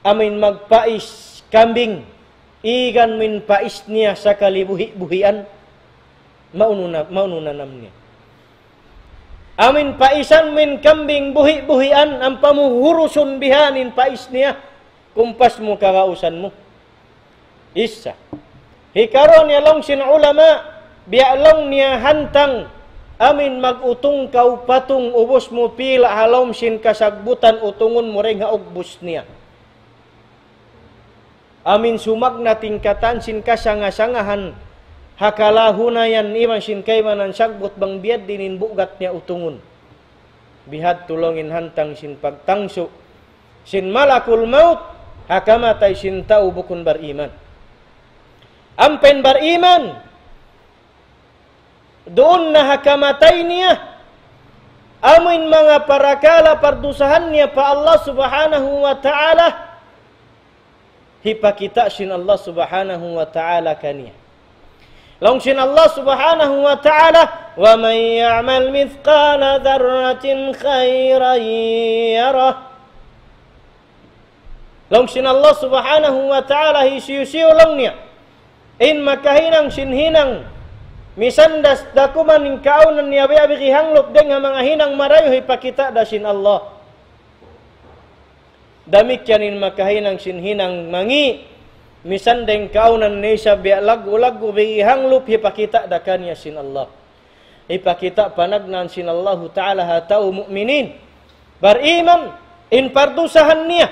amuin magpais kambing, igan mu in pais niya sakali buhi'-buhian, maunu na, maunu nanam niya. Amuin paisan mu in kambing buhi'-buhian, ampa mu hurusun bihan in pais niya, kumpas mu kagausan mu. Isa. Hikaruwa niya laung sin ulama, biya' laung niya hantang, amuin mag-utung kaw patung ubus mu pila' ha lawm sin kasagbutan utungun mu dayng ha ugbus niya. Amuin sumagna' in katan sin kasanga-sangahan, ha kalahunayan iban sin kaibanan sagbut bang biya' diin in bugat niya utungun. Bihadtu laung in hantang sin pagtangsu sin malakul maut, ha kamatay sin tau bukun bariman. Ampa in bariman, duun na ha kamatay niya, amuin manga parakala' pardusahan niya pa Allah subhanahu wa ta'ala, hipakita' sin Allah subhanahu wa ta'ala kaniya. Laung sin Allah subhanahu wa ta'ala, وَمَنْ يَعْمَلْ مِثْقَالَ ذَرَّةٍ خَيْرًا يَرَهُ. Laung sin Allah subhanahu wa ta'ala, hisiyu-siyu laung niya in makahinang sin hinang misan da kuman in kaawnan niya biya' bigi hanglup dayng ha manga hinang marayaw, hipakita' da sin Allah. Damikkiyan in makahinang sin hinang mangi', misan dayng kaawnan niya isab biya' laggu'-laggu' bigi hanglup, hipakita' da kaniya sin Allah. Hipakita' panagnaan sin Allahu ta'ala ha tau mu'minin. Bariman, in pardusahan niya.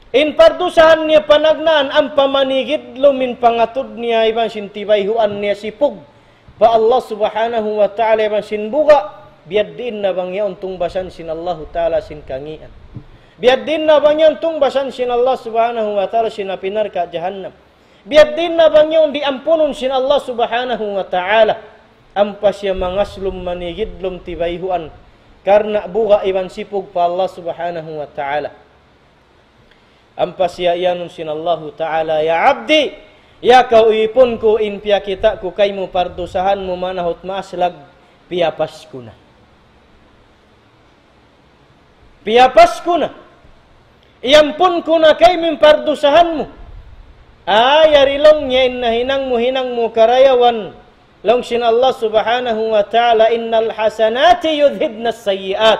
In pardusahan niya panagnaan ampa manigidlum in pangatud niya iban sin tibayhuan niya sipug pa Allah subhanahu wa ta'ala iban sin buga', biya' diin na bang yaun tungbasan sin Allahu ta'ala sin kangian. Biya' diin na bang yan tungbasan sin Allah Subhanahu wa Ta'ala sin api narka' jahannam. Biya' diin na bang yan diampunun sin Allah Subhanahu wa Ta'ala. Ampa siya mangaslum manigidlum tibayhuan. Karna' buga' iban sipug pa Allah Subhanahu wa Ta'ala. Ampa siya iyanun sin Allahu Ta'ala, "Ya abdi, ya kaw ipun ku, in piyakita' ku kaymu pardusahan mu manahut maaslag, piyapas ku na. Piyapas ku na. Iyampun ku na kaymu in pardusahan mu." Ay, yari laung niya in nahinang mu, hinang mu karayawan. Laung sin Allah Subhanahu wa Ta'ala, "Innal hasanati yudhibnas sayyi'at."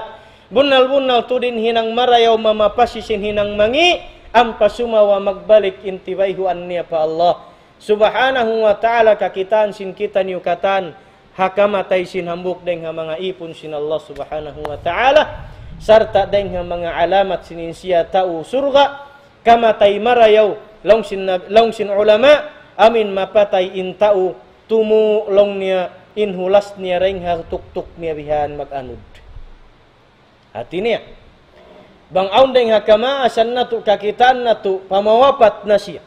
Bunnal-bunnal tuud in hinang marayaw mamapasi sin hinang mangi', ampa sumagawa' magbalik in tibayhuan niya pa Allah Subhanahu wa Ta'ala. Kakitaan sin kitaniyu katan, ha kamatay sin hambuuk dayng ha manga ipun sin Allah Subhanahu wa Ta'ala, sarta' dayng ha manga alamat sin in siya tau surga', kamatay marayaw, laung sin nab-, laung sin ulama, amuin mapatay in tau, tumu' laung niya in hulas niya dayng ha tuktuk niya bihan mag-anud. Hati niya, bang awn dayng ha kamaasan natu', kakitaan natu', pamawapat na siya,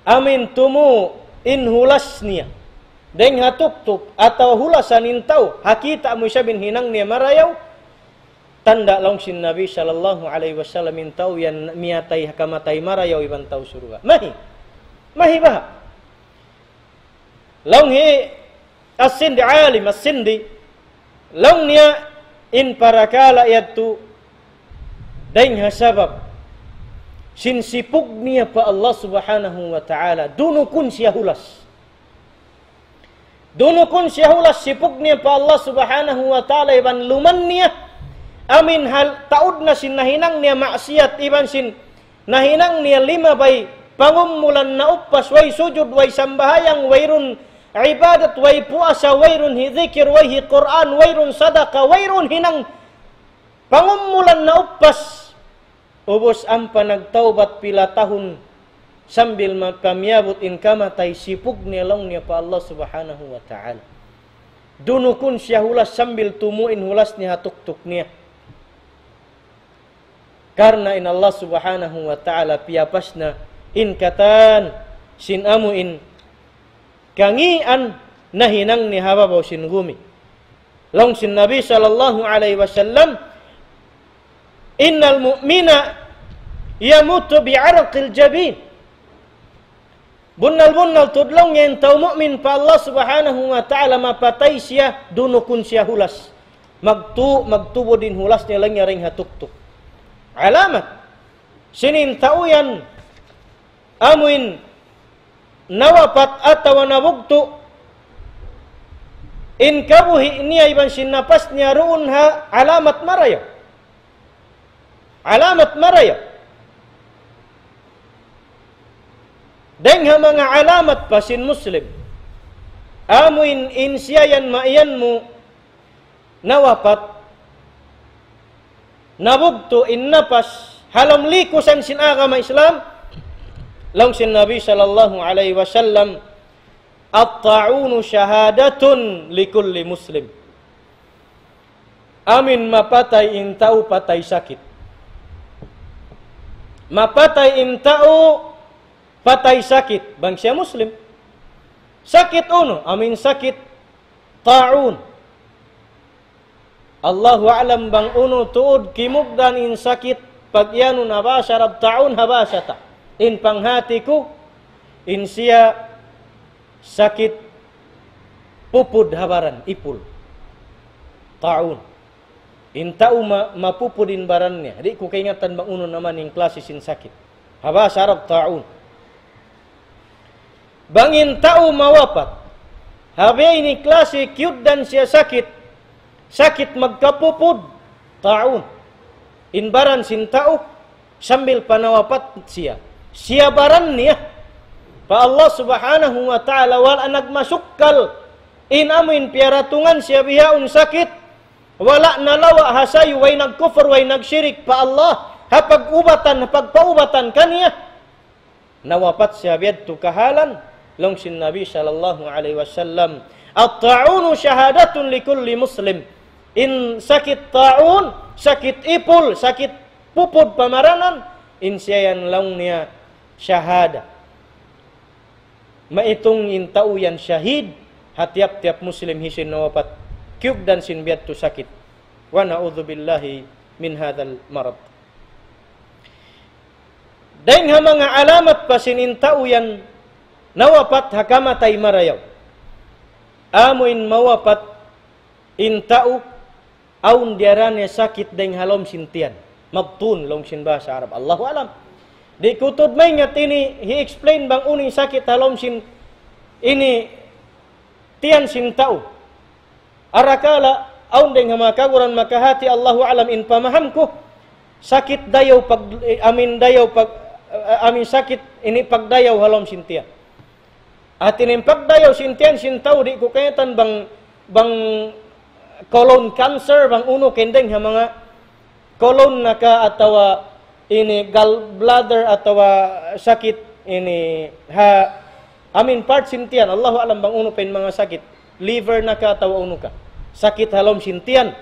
amuin tumu' in hulas niya dayng ha tuktuk, atawa hulasan in tau, ha kita' mu isab in hinang niya marayaw, tanda' laung sin Nabi sallallahu alayhi wasallam in tau yan miyatay, kamatay marayaw iban tau surga'. Mahi. Mahi baha'. Laung hi As-Sindi, alim As-Sindi, laung niya in parakala' yadtu dayng ha sabab sin sipug niya pa Allah Subhanahu wa Ta'ala, dunukun siya hulas. Dunukun siya hulas sipug niya pa Allah Subhanahu wa Ta'ala iban luman niya. Amuin hal taud na sin nahinang niya maksiyat iban sin nahinang niya limabay pangumulan na uppas, way sujud, way sambahayang, wayruun ibadat, way puasa, wayruun hi-, dhikir, way hi-Qur'an, wayruun sadaka, wayruun hinang pangumulan na uppas. Ubus ampa nagtawbat pila tahun sambil ma-, pamiyabut in kamatay, sipug niya laung niya pa Allah Subhanahu wa Ta'ala. Dunukun siya hulas sambil tumu' in hulas niya ha tuktuk niya. Karna' in Allah Subhanahu wa Ta'ala piyapas na in katan sin amuin kangian nahinang niya ha babaw sin gumi. Laung sin Nabi sallallahu alayhi wasallam, "Innal mu'mina yamutu bi'araqil jabin." Bunnal-bunnal tuud laung niya in tau mu'min pa Allah Subhanahu wa Ta'ala mapatay siya, dunukun siya hulas. Magtu-, magtubud in hulas niya laung niya dayng ha tuktuk. Alamat sin in tau yan amuin nawapat atawa nabugtu' in kabuhi' niya iban sin napas niya, duun ha alamat marayaw. Alamat marayaw. Dayng ha manga alamat pa sin Muslim, amuin in siya yan maiyan mu nawapat, nabugtu' in napas, ha lawm likusan sin agama Islam, laung sin Nabi sallallahu alayhi wasallam, "At-ta'unu shahadatun likulli muslim." Amuin mapatay in tau patay sakit. Mapatay in tau patay sakit, bang siya Muslim. Sakit unu, amuin sakit ta'un. Allahu a'lam bang unu tuud kimugdan in sakit, pag-iyanun ha bahasa Arab ta'un, ha bahasa ta. In panghati ku, in siya sakit pupud ha baran, ipul. Ta'un. In tau ma-, mapupud in baran niya. Di' ku kaingatan bang unu naman in klasi sin sakit. Ha bahasa Arab, ta'un. Bang in tau mawapat, ha biya' ini klasi kiyugdan siya sakit, sakit magkapupud, ta'un. In baran sin tau, sambil pa nawapat siya. Siyabaran niya pa Allah Subhanahu wa Ta'ala, wala' nagmasukkal in amuin piyaratungan siya bihaun sakit, wala' nalawa' ha sayu, way nagkufur, way nagshirik pa Allah, ha pag-ubatan, ha pagpaubatan kaniya. Nawapat siya biya' yadtu kahalan, laung sin Nabi sallallahu alayhi wasallam, "At-ta'unu shahadatun likulli muslim." In sakit ta'un, sakit ipul, sakit pupud pamaranan, in siya yan laung niya shahada. Maitung in tau yan shahid, ha tiyap-tiyap Muslim hisiyu in nawapat, kiyugdan sin biya' yadtu sakit. ونعوذ بالله من هذا المرض. Dayng ha manga alamat pa sin in tau yan nawapat ha kamatay marayaw. Amu in mawapat in tau awn diyara niya sakit dayng ha lawm sin tiyan. Mabtun, laung sin bahasa Arab. Allahu alam. Di' ku tuud maingat ini, hi-explain bang unu in sakit ha lawm sin ini tiyan sin tau. Arakala', awn dayng ha manga kaguran makahati, Allahu alam in pamaham ku, sakit dayaw pag, eh, amin dayaw pag, eh, amin sakit ini pagdayaw ha lawm sin tiyan. Hati niya in pagdayaw sin tiyan sin tau, di' ku kaingatan bang, bang colon cancer, bang unu kayndeng ha manga colon na ka atawa ini gallbladder atawa sakit ini ha amin part sin tiyan, Allahu alam bang unu pa in manga sakit, liver na ka atawa unu ka. Sakit ha lawm sin tiyan.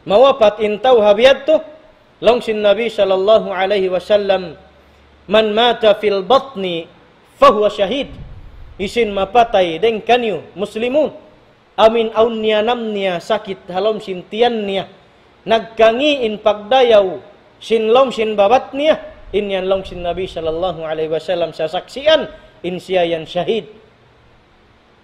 Mawapat in tau ha biya' yadtu, laung sin Nabi sallallahu alayhi wasallam, من مات في البطن فهو شهيد. Hisiyu in mapatay dayng kaniyu, Muslimun, amin awn niyanam niya sakit ha lawm sin tiyan niya, nagkangi' in pagdayaw sin lawm sin babat niya, in yan laung sin Nabi sallallahu alayhi wasallam sasaksian, in siya yan shahid.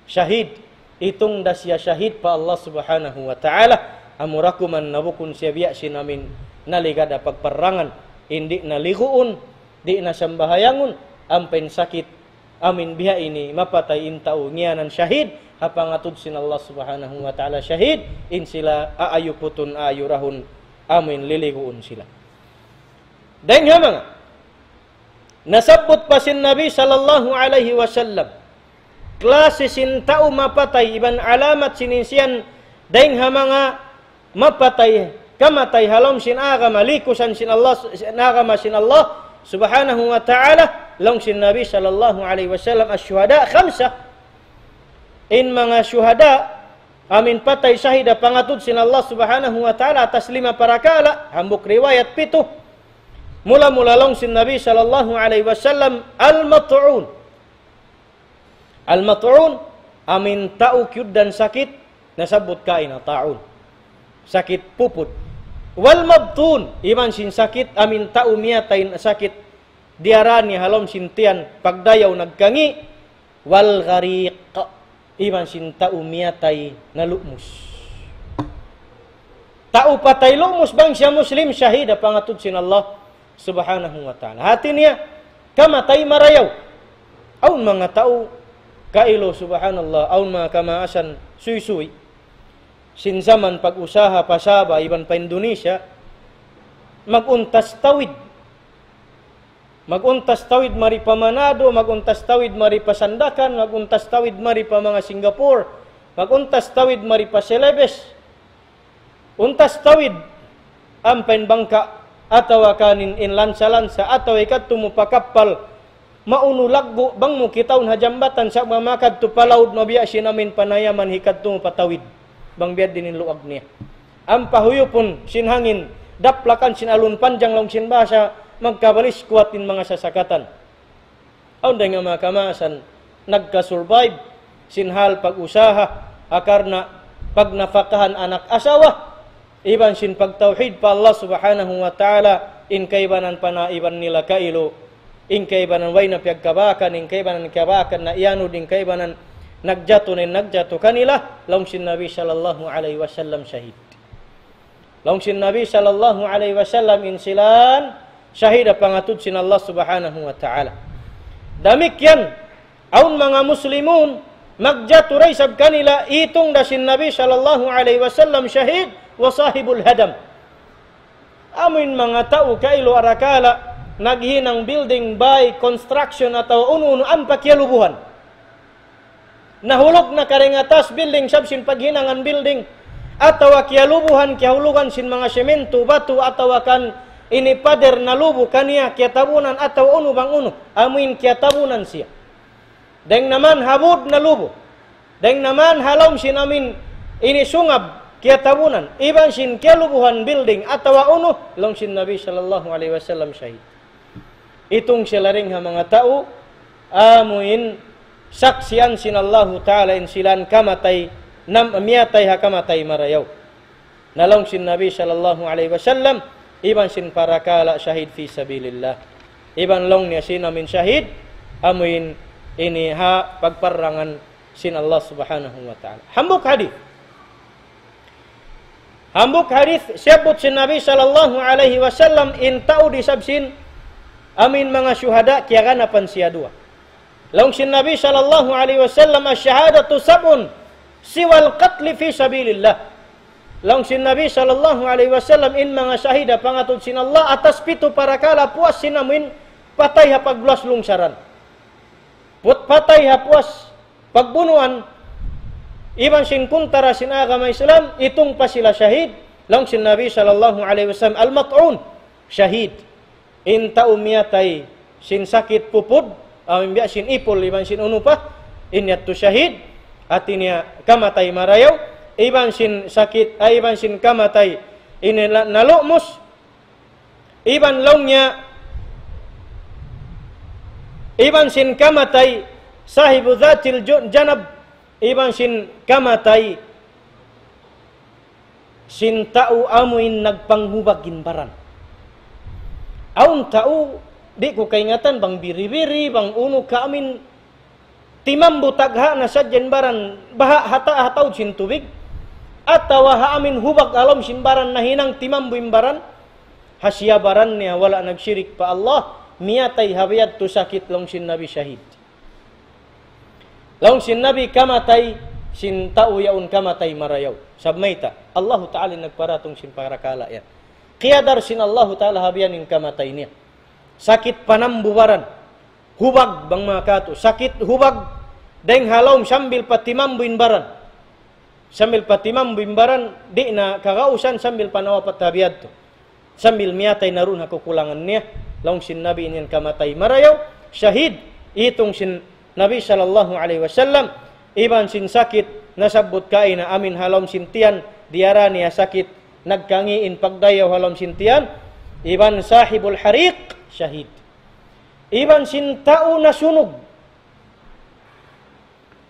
Shahid, itung da siya shahid pa Allah Subhanahu wa Ta'ala, amura kuman na bukun siya biya' sin amin naligad ha pagparrangan, in di' na liguun, di' na sambahayangun, ampa in sakit, amin biha' ini mapatay in tau ngiyanan shahid, ha pangatud sin Allah Subhanahu wa Ta'ala shahid, in sila aayuputun, aayurahun, amin liliguun sila. Dayng ha manga nasabbut pa sin Nabi sallallahu alayhi wasallam, klasi sin tau mapatay, iban alamat sin in siyan, dayng ha manga mapatay, kamatay ha lawm sin agama, likusan sin Allah, sin agama sin Allah Subhanahu wa Ta'ala, laung sin Nabi sallallahu alayhi wasallam, الشهداء خمسة. In manga shuhada, amin patay shahid ha pangatud sin Allah Subhanahu wa Ta'ala atas lima parakala', hambuuk riwayat pitu. Mula-mula laung sin Nabi sallallahu alayhi wasallam, المطعون. Al-mat'un, amin tau kiyugdan sakit, nasabbut kaina ta'un. Sakit pupud. Wal mabtun, iban sin sakit, amin tau miyatay sakit, diyara niya ha lawm sin tiyan, pagdayaw nagkangi', wal ghariq, iban sin tau miyatay nalumus. Tau patay lumus bang siya Muslim, shahid ha pangatud sin Allah Subhanahu wa Ta'ala. Hati niya, kamatay marayaw. Awn manga tau, kailu, subhanallah, awn manga kamaasan suysuy. Sin jaman pag-usaha pa Sabah, iban pa Indonesia, mag-untas tawid. Mag-untas tawid mari pa Manado, mag-untas tawid mari pa Sandakan, mag-untas tawid mari pa manga Singapore, mag-untas tawid mari pa Celebes. Untas tawid, ampa in bangka', atawa kan in, in lansa-lansa, atawa hikadtu mu pa kappal, maunu laggu', bang mu kitaun ha jambatan, sa' bang makadtu pa laud, mabiya' sin amin panayaman hikadtu mu pa tawid, bang biya' diin in luag niya. Ampa huyupun sin hangin, daplakan sin alun panjang laung sin bahasa, magkabalis kuwat in manga sasakatan. Awn dayn ha manga kamaasan nagka-survive sin hal pag-usaha, ha karna' pagnapakahan anak asawa, iban sin pagtawhid pa Allah Subhanahu wa Ta'ala, in kaibanan panaiban nila kailu, in kaibanan way na piyagkabakan, in kaibanan kabakan na iyanud, in kaibanan nagjatu na in nagjatu kanila, laung sin Nabi sallallahu alayhi wasallam shahid. Laung sin Nabi sallallahu alayhi wasallam in sila yan shahid ha pangatud sin Allah Subhanahu wa Ta'ala. Damikkiyan, awn manga Muslimun, magjatu da isab kanila, itung da sin Nabi sallallahu alayhi wasallam shahid, wa sahibul hadam. Amu in manga tau kailu arakala', naghinang building by construction atawa unu-unu ampa kiyalubuhan. Nahulug na karing atas building sabab sin paghinangan building, atawa kiyalubuhan, kiyahulugan sin manga semento, batu, atawa kan ini pader nalubu kaniya, kiyatabunan atawa unu bang unu, amuin kiyatabunan siya. Dayng naman ha būd nalubu. Dayng naman ha lawm sin amin ini sungab, kiyatabunan, iban sin kiyalubuhan building atawa unu, laung sin Nabi sallallahu alayhi wasallam shahid. Itung sila dayn ha manga tau, amu in saksian sin Allahu Ta'ala in sila in kamatay, nam-, miyatay ha kamatay marayaw. Na laung sin Nabi sallallahu alayhi wasallam, iban sin parakala' shahid fi sabilillah. Iban laung niya sin amu in shahid, amu in ini ha pagparrangan sin Allah Subhanahu wa Ta'ala. Hambuuk hadith. Hambuuk hadith, siyabbut sin Nabi sallallahu alayhi wasallam, in tau di isab sin amu in manga shuhada, kiyaganapan siya duwa. Laung sin Nabi sallallahu alayhi wasallam, الشهادة سبع سوى القتل في سبيل الله. Laung sin Nabi sallallahu alayhi wasallam, in manga shahid ha pangatud sin Allah, atas pitu parakala' puas sin amu in patay ha pagluwas lungsaran. Put-, patay ha puas pagbunuan, iban sin kuntara sin agama Islam, itung pa sila shahid, laung sin Nabi sallallahu alayhi wasallam, المطعون, shahid. In tau miyatay sin sakit pupud, amu in biya' sin ipul, iban sin unu pa, in yadtu shahid, hati niya kamatay marayaw, iban sin sakit, ay, iban sin kamatay, ini la-, nalumus, iban laung niya, iban sin kamatay, صاحب ذات الج-، جنب, iban sin kamatay, sin tau amu in nagpanghubag in baran. Awn tau, di' ku kaingatan bang biri-biri, bang unu ka amu in timambu tagha' na sadja in baran, baha' ha ta-, ha taud sin tubig, atawa ha amu in hubag ha lawm sin baran nahinang timambu in baran, ha siya baran niya wala' nagshirik pa Allah, miyatay ha biya' yadtu sakit laung sin Nabi shahid. Laung sin Nabi kamatay sin tau yaun kamatay marayaw. Sabab mayta', Allahu Ta'ala in nagparatung sin parakala' yan. Kiyadar sin Allahu Ta'ala ha biya' ini in kamatay niya. Sakit panambu baran. Hubag bang manga katu'. Sakit hubag. Dayng ha lawm sambil pa timambu in baran. Sambil pa timambu in baran, di' na kagausan sambil pa nawapat ha biya' yadtu. Sambil miyatay na duun ha kakulangan niya, laung sin Nabi in yan kamatay marayaw, shahid, itung sin Nabi sallallahu alayhi wasallam, iban sin sakit, nasabbut kaina amu in ha lawm sin tiyan, diyara niya sakit, nagkangi' in pagdayaw ha lawm sin tiyan, iban صاحب الحريق, shahid. Iban sin tau nasunug,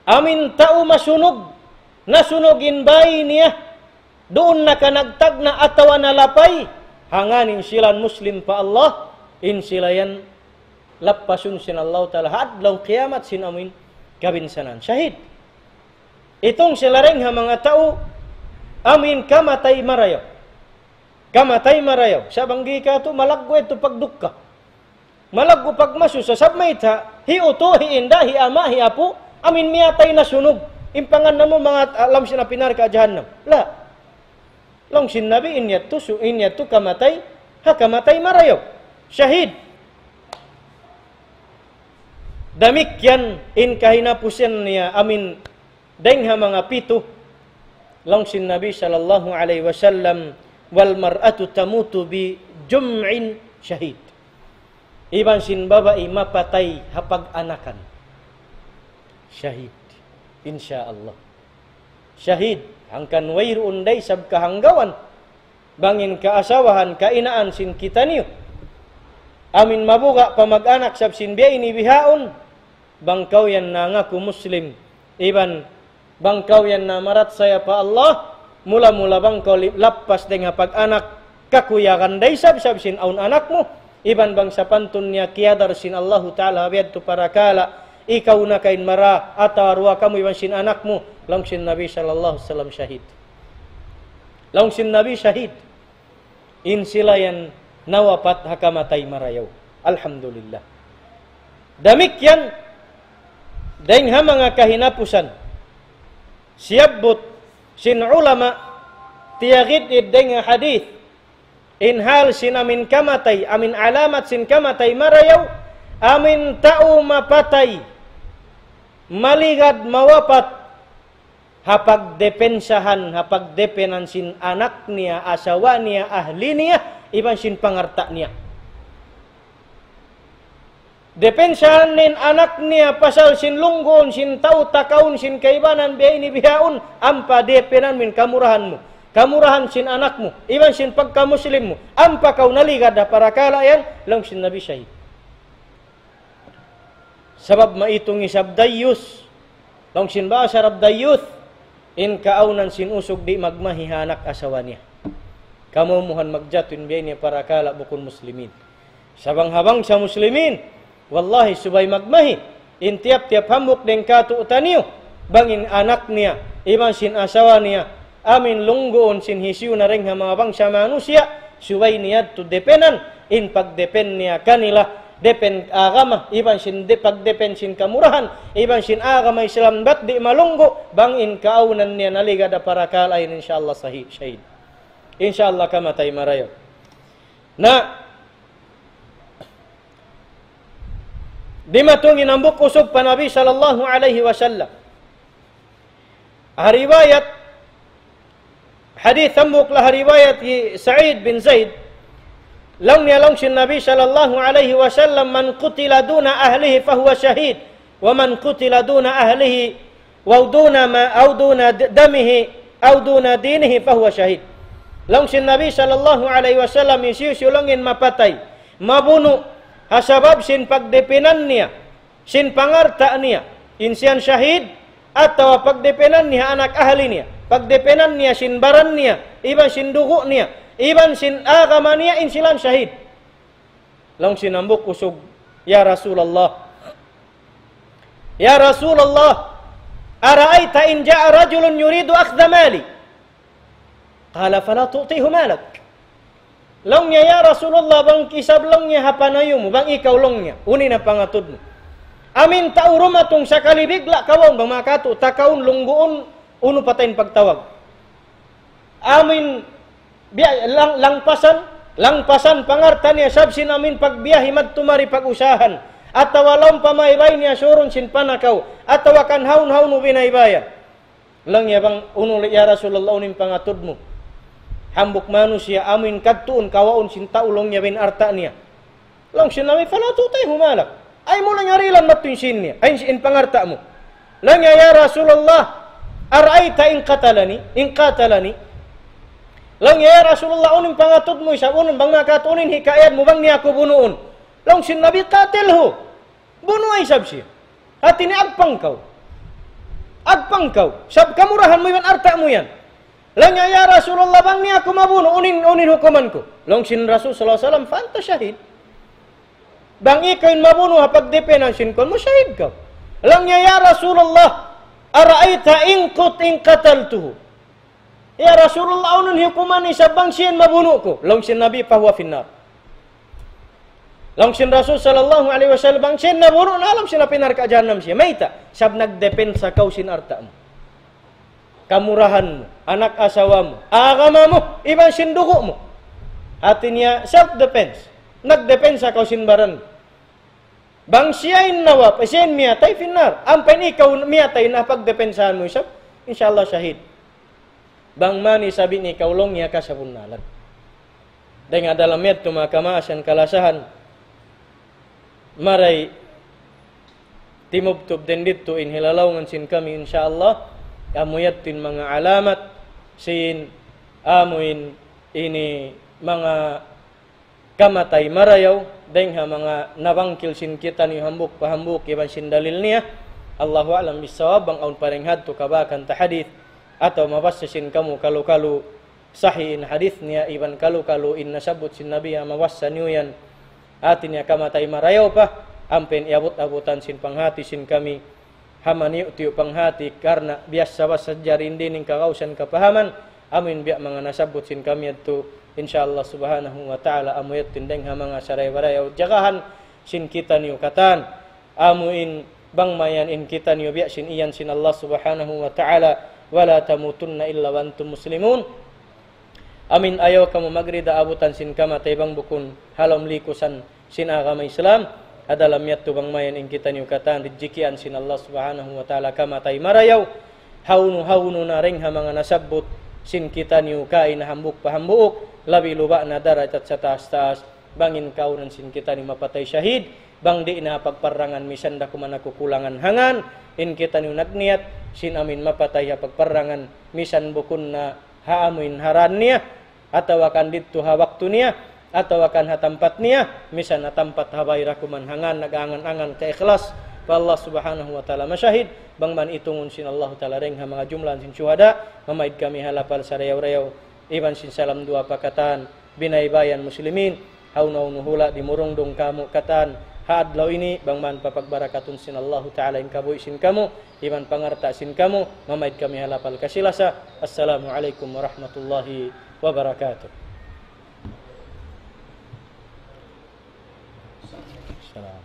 amu in tau masunug, nasunug in bāy niya, duun na ka nagtagna' atawa nalapay, hangkan in sila Muslim pa Allah, in sila yan lappasun sin Allahu Ta'ala, ha adlaw kiyamat sin amu in kabinsanaan. Shahid. Itung sila dayng ha manga tau, amu in kamatay marayaw. Kamatay marayaw. Sa' bang di' katu' malaggu' yadtu pagdukka. Malaggu' pagmasusa, sabab mayta', hi utu', hi inda', hi ama', hi apu', amu in miyatay nasunug. In pangannal mu manga, ah, lawm sin api narka' jahannam. La. Laung sin Nabi, in yadtu su-, in yadtu kamatay, ha kamatay marayaw. Shahid. Damikkiyan in kahinapusan niya amu in dayng ha manga pitu, laung sin Nabi sallallahu alayhi wasallam, والمرأة تموت بجمع شهيد. Iban sin babai mapatay ha pag-anakan. Shahid. Insya Allah. Shahid. Hangkan wayruun da isab kahanggawan. Bang in kaasawahan, kainaan sin kitaniyu. Amu in mabuga' pa mag-anak sabab sin biya' ini bihaun. Bang kaw yan nangaku Muslim, iban bang kaw yan namarachaya pa Allah, mula-mula bang kaw li-, lappas dayng ha pag-anak, kakuyagan da isab, sabab sin awn anak mu, iban bang sapantun niya kiyadar sin Allahu Ta'ala ha biya' yadtu parakala', ikaw na kain mara, atawa duwa kamu iban sin anak mu, laung sin Nabi sallallahu alayhi wasallam shahid. Laung sin Nabi shahid. In sila yan nawapat ha kamatay marayaw. Alhamdulillah. Damikkiyan, dayng ha manga kahinapusan, siyabbut sin ulama, tiyagid-id dayng ha hadith, in hal sin amu in kamatay, amu in alamat sin kamatay marayaw, amu in tau mapatay, maligad mawapat, ha pagdepensahan, ha pagdepenan sin anak niya, asawa niya, ahli niya, iban sin pangalta' niya. Depensahan niya in anak niya pasal sin lungguun, sin tau takaun, sin kaibanan, biya' ini bihaun, ampa depenan mu in kamurahan mu. kamurahan sin anak mu, iban sin pagka-Muslim mu, ampa kaw naligad ha parakala' yan, laung sin Nabi, shahid. Sabab maitung isab dayyus. Laung sin bahasa Arab dayyus, in kaawnan sin usug di' magmahi ha anak asawa niya. Kamumuhan magjatu in biya' ini parakala' bukun Muslimin. Sa' bang ha bangsa Muslimin, wallahi subay magmahi, in tiyap-tiyap hambuuk dayn kātu'niyu, bang in anak niya, iban sin asawa niya, amu in lungguun sin hisiyu na dayn ha manga bangsa manusiya', subay niya yadtu depenan, in pagdepen niya kanila, depen agama, iban sin de-, pagdepen sin kamurahan, iban sin agama Islam bat di' malunggu', bang in kaawnan niya naligad ha parakala' yan, insya Allah sahi-, shahid. Insya Allah kamatay marayaw. Na, dimatung in hambuuk usug pa Nabi sallallahu alayhi wasallam. Ha riwayat, hadith hambuuk laung ha riwayat hi Sa'id bin Zaid, laung niya laung sin Nabi sallallahu alayhi wasallam, من قتل دون أهله فهو شهيد، ومن قتل دون أهله أو دون ما-، أو دون د-، دمه أو دون دينه فهو شهيد. Laung sin Nabi sallallahu alayhi wasallam, hisiyu-siyu laung in mapatay, mabunu', ha sabab sin pagdepenan niya, sin pangalta' niya, in siya yan shahid, atawa pagdepenan niya anak ahli niya, pagdepenan niya sin baran niya, iban sin dugu' niya, iban sin agama niya, in sila yan shahid. Laung sin hambuuk usug, يا رسول الله، يا رسول الله، أرأيت إن جاء رجل يريد أخذ مالي؟ قال: فلا تعطه مالك. Laung niya, "Ya Rasulullah, bang isab laung niya ha panayu mu, bang ikaw laung niya, unu in pangatud mu. Amu in tau dumatung sakali bigla' kawaun, bang makatu, takaun, lungguun, unu pa ta in pagtawag. Amu in biya', lang-, langpasan, langpasan pangalta' niya, sabab sin amu in pagbiyahi madtu mari pag-usahan. Atawa laung pa maybay niya surun sin panakaw. Atawa kan hawnu-hawnu binaybaya." Laung niya, "Bang unu, ya Rasulullah, unu in pangatud mu? Hambuuk manusiya' amu in kadtuun kawaun sin tau laung niya in alta' niya." Laung sin Nabi, "فلا تعطه مالك." Ay mu laung niya dihilan madtu in sīn niya, ay in pangalta' mu. Laung niya, "يا رسول الله، أرأيت إن قتلني، إن قاتلني." Laung niya, "Ya Rasulullah, unu in pangatud mu isab, unu bang makatu, unu in hikayat mu bang niya aku bunuun?" Laung sin Nabi, "قاتله." Bunuwa isab siya. Hati niya agpang kaw. Agpang kaw. Sabab kamurahan mu iban alta' mu yan. Laung niya, "Ya Rasulullah, bang niya aku mabunu', unu in, unu in hukuman ku?" Laung sin Rasul sallallahu alayhi wasallam, "فأنت شهيد." Bang ikaw in mabunu' ha pagdepenan sin kuwan mu, shahid kaw. Laung niya, "يا رسول الله، أرأيت إن قت-، إن قتلته؟" "Ya Rasulullah, unu in hukuman isab bang siya in mabunu' ku?" Laung sin Nabi, "فهو في النار." Laung sin Rasul sallallahu alayhi wasallam, "Bang siya in nabunu', na ha lawm sin api narka' jahannam siya." Mayta'? Sabab nagdepensa kaw sin alta' mu, kamurahan mu, anak asawa mu, agama mu, iban sin dugu' mu. Hati niya, self-defense. Nagdepensa kaw sin baran mu. Bang siya in nawap-, siya in miyatay, في النار. Ampa in ikaw miyatay na pagdepensahan mu isab, insya Allah shahid. Bang man isab in ikaw laung niya kasabunnalan. Dayn ha dalam yadtu manga kamaasan kalasahan, maray timubtub dayn didtu in hilalaungan sin kami, insya Allah, amu yadtu in manga alamat sin amu in ini manga kamatay marayaw, dayn ha manga nabangkil sin kitaniyu hambuuk pa hambuuk iban sin dalil niya. Allahu a'lam bissawab, bang awn pa dayn hadtu kabakan ta hadith, atawa mabassa sin kamu kalu-kalu sahih in hadith niya, iban kalu-kalu in nasabbut sin Nabi ha mabassa niyu yan. Hati niya kamatay marayaw pa, ampa in iyabut-abutan sin panghati sin kami, ha maniyu'-tiyu' panghati, karna' biyassa-bassa jari in dinding kagausan kapahaman, amu in biya' manga nasabbut sin kami yadtu, insya Allah subhanahu wa ta'ala, amu yadtu in dayn ha manga saray-barayaw jagahan sin kitaniyu katan, amu in bang mayan in kitaniyu biya' sin iyan sin Allah subhanahu wa ta'ala, ولا تموتن إلا وأنتم مسلمون. Amu in ayaw kamu magrida abutan sin kamatay bang bukun ha lawm likusan sin agama Islam, ha dalam yadtu bang mayan in kitaniyu katan ridjikian sin Allah subhanahu wa ta'ala kamatay marayaw, hawnu-hawnu na dayn ha manga nasabbut sin kitaniyu kaina hambuuk pa hambuuk, labi luba' na darajat sataas-taas, bang in kaawnan sin kitaniyu mapatay shahid, bang di' na ha pagparrangan misan da kuman ha kukulangan hangan, in kitaniyu nagniyat, sin amu in mapatay ha pagparrangan, misan bukun na ha amuin ha dān niya, atawa kan didtu ha waktu niya, atawa kan ha tampat niya, misan ha tampat ha bay da kuman, hangkan nag-angan-angan kaikhlas pa Allah Subhanahu wa Ta'ala. Mashahid, bang man itungun sin Allah Ta'ala dayng ha manga jumlahan sin shuhada, mamaid kami ha lapal sarayaw-rayaw, iban sin salam duwaa pa katan, binaybayan muslimin, hawnu-hawnu hula' dimurungdung kāmu' katan, ha adlaw ini, bang man papagbarakatun sin Allah Ta'ala in kabuhi' sin kamu, iban pangalta' sin kamu, mamaid kami ha lapal kasi-lasa. Assalamu alaykum warahmatullahi wabarakatuh. Salam.